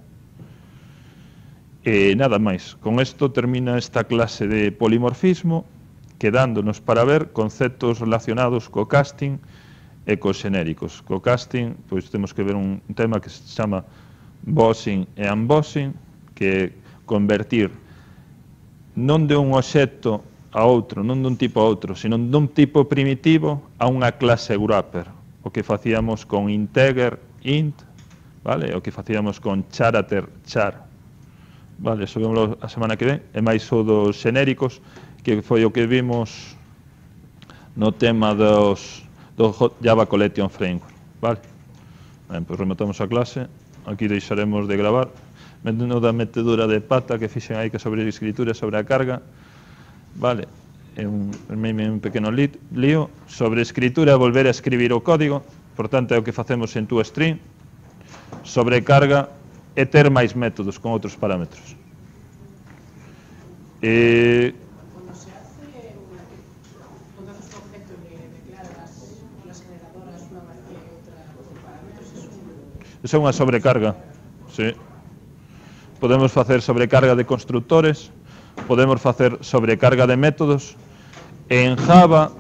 E nada máis. Con isto termina esta clase de polimorfismo, quedándonos para ver conceptos relacionados co casting e cos xenéricos. Co casting, pois temos que ver un tema que se chama bossing e unbossing, que é convertir non de un obxecto a outro, non dun tipo a outro, sino dun tipo primitivo a unha clase wrapper. O que facíamos con integer, int, vale? O que facíamos con character, char. Vale, eso vemos a semana que ven, e máis o dos xenéricos, que foi o que vimos no tema do Java Collection Framework. Vale? Ben, pois rematamos a clase, aquí deixaremos de gravar, metendo da metedura de pata que fixen aí que sobre a escritura, sobre a carga, vale, é un pequeno lío, sobre escritura volver a escribir o código, por tanto é o que facemos en toString, sobre carga, e ter máis métodos con outros parámetros. Cuando se hace cuando haces un objeto y le declaras las generadoras una vacía y otra con parámetros, eso é unha sobrecarga. Sí. Podemos facer sobrecarga de constructores, podemos facer sobrecarga de métodos. En Java,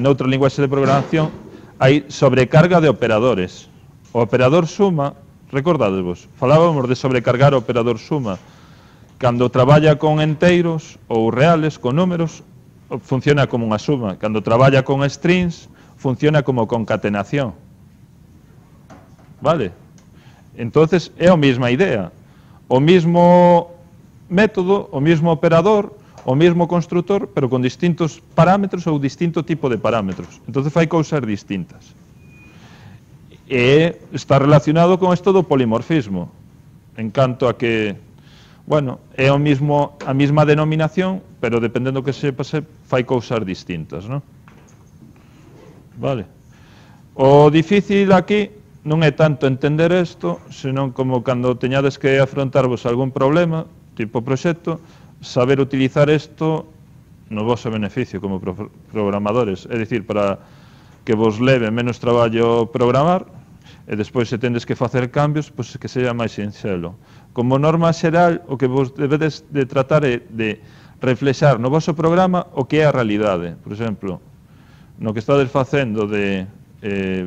noutra linguaxe de programación, hai sobrecarga de operadores. O operador suma, recordadevos, falábamos de sobrecargar o operador suma. Cando traballa con enteiros ou reales, con números, funciona como unha suma. Cando traballa con strings, funciona como concatenación. Vale? Entonces, é a mesma idea. O mesmo método, o mesmo operador, o mesmo constructor, pero con distintos parámetros ou distinto tipo de parámetros. Entonces, fai cousas distintas. E está relacionado con isto do polimorfismo, en canto a que Bueno, é a mesma denominación, pero dependendo que se pase, fai cousas distintas, non? Vale. O difícil aquí non é tanto entender isto, senón como cando teñades que afrontarvos algún problema, tipo proxecto, saber utilizar isto no vosso beneficio como programadores, é dicir, para que vos leve menos traballo programar, e despois se tendes que facer cambios, pois que seja máis sinxelo. Como norma xeral, o que vos debedes de tratar é de reflexar no voso programa o que é a realidade. Por exemplo, no que estades facendo de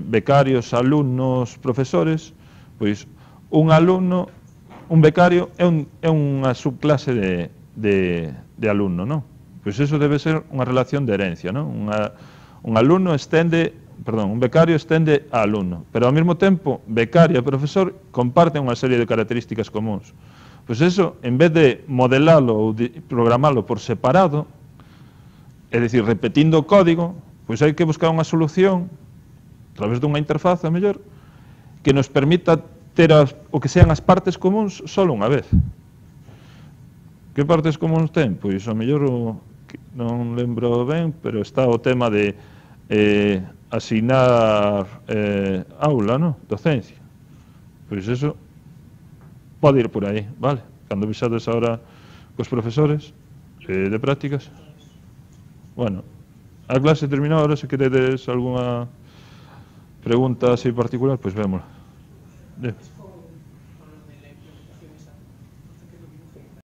becarios, alumnos, profesores, pois un alumno, un becario é unha subclase de alumno, non? Pois iso debe ser unha relación de herencia, non? Un becario estende a alumno, pero ao mesmo tempo, becario e profesor comparten unha serie de características comuns. Pois eso, en vez de modelalo ou de programalo por separado, é dicir, repetindo o código, pois hai que buscar unha solución, a través dunha interfaz, a mellor, que nos permita ter o que sean as partes comuns só unha vez. Que partes comuns ten? Pois, a mellor, non lembro ben, pero está o tema de asignar aula, ¿no? Docencia. Pois eso pode ir por aí, vale? Cando vixades ahora cos profesores de prácticas. Bueno, a clase terminou, ahora se queredes algunha pregunta así particular, pois vémola.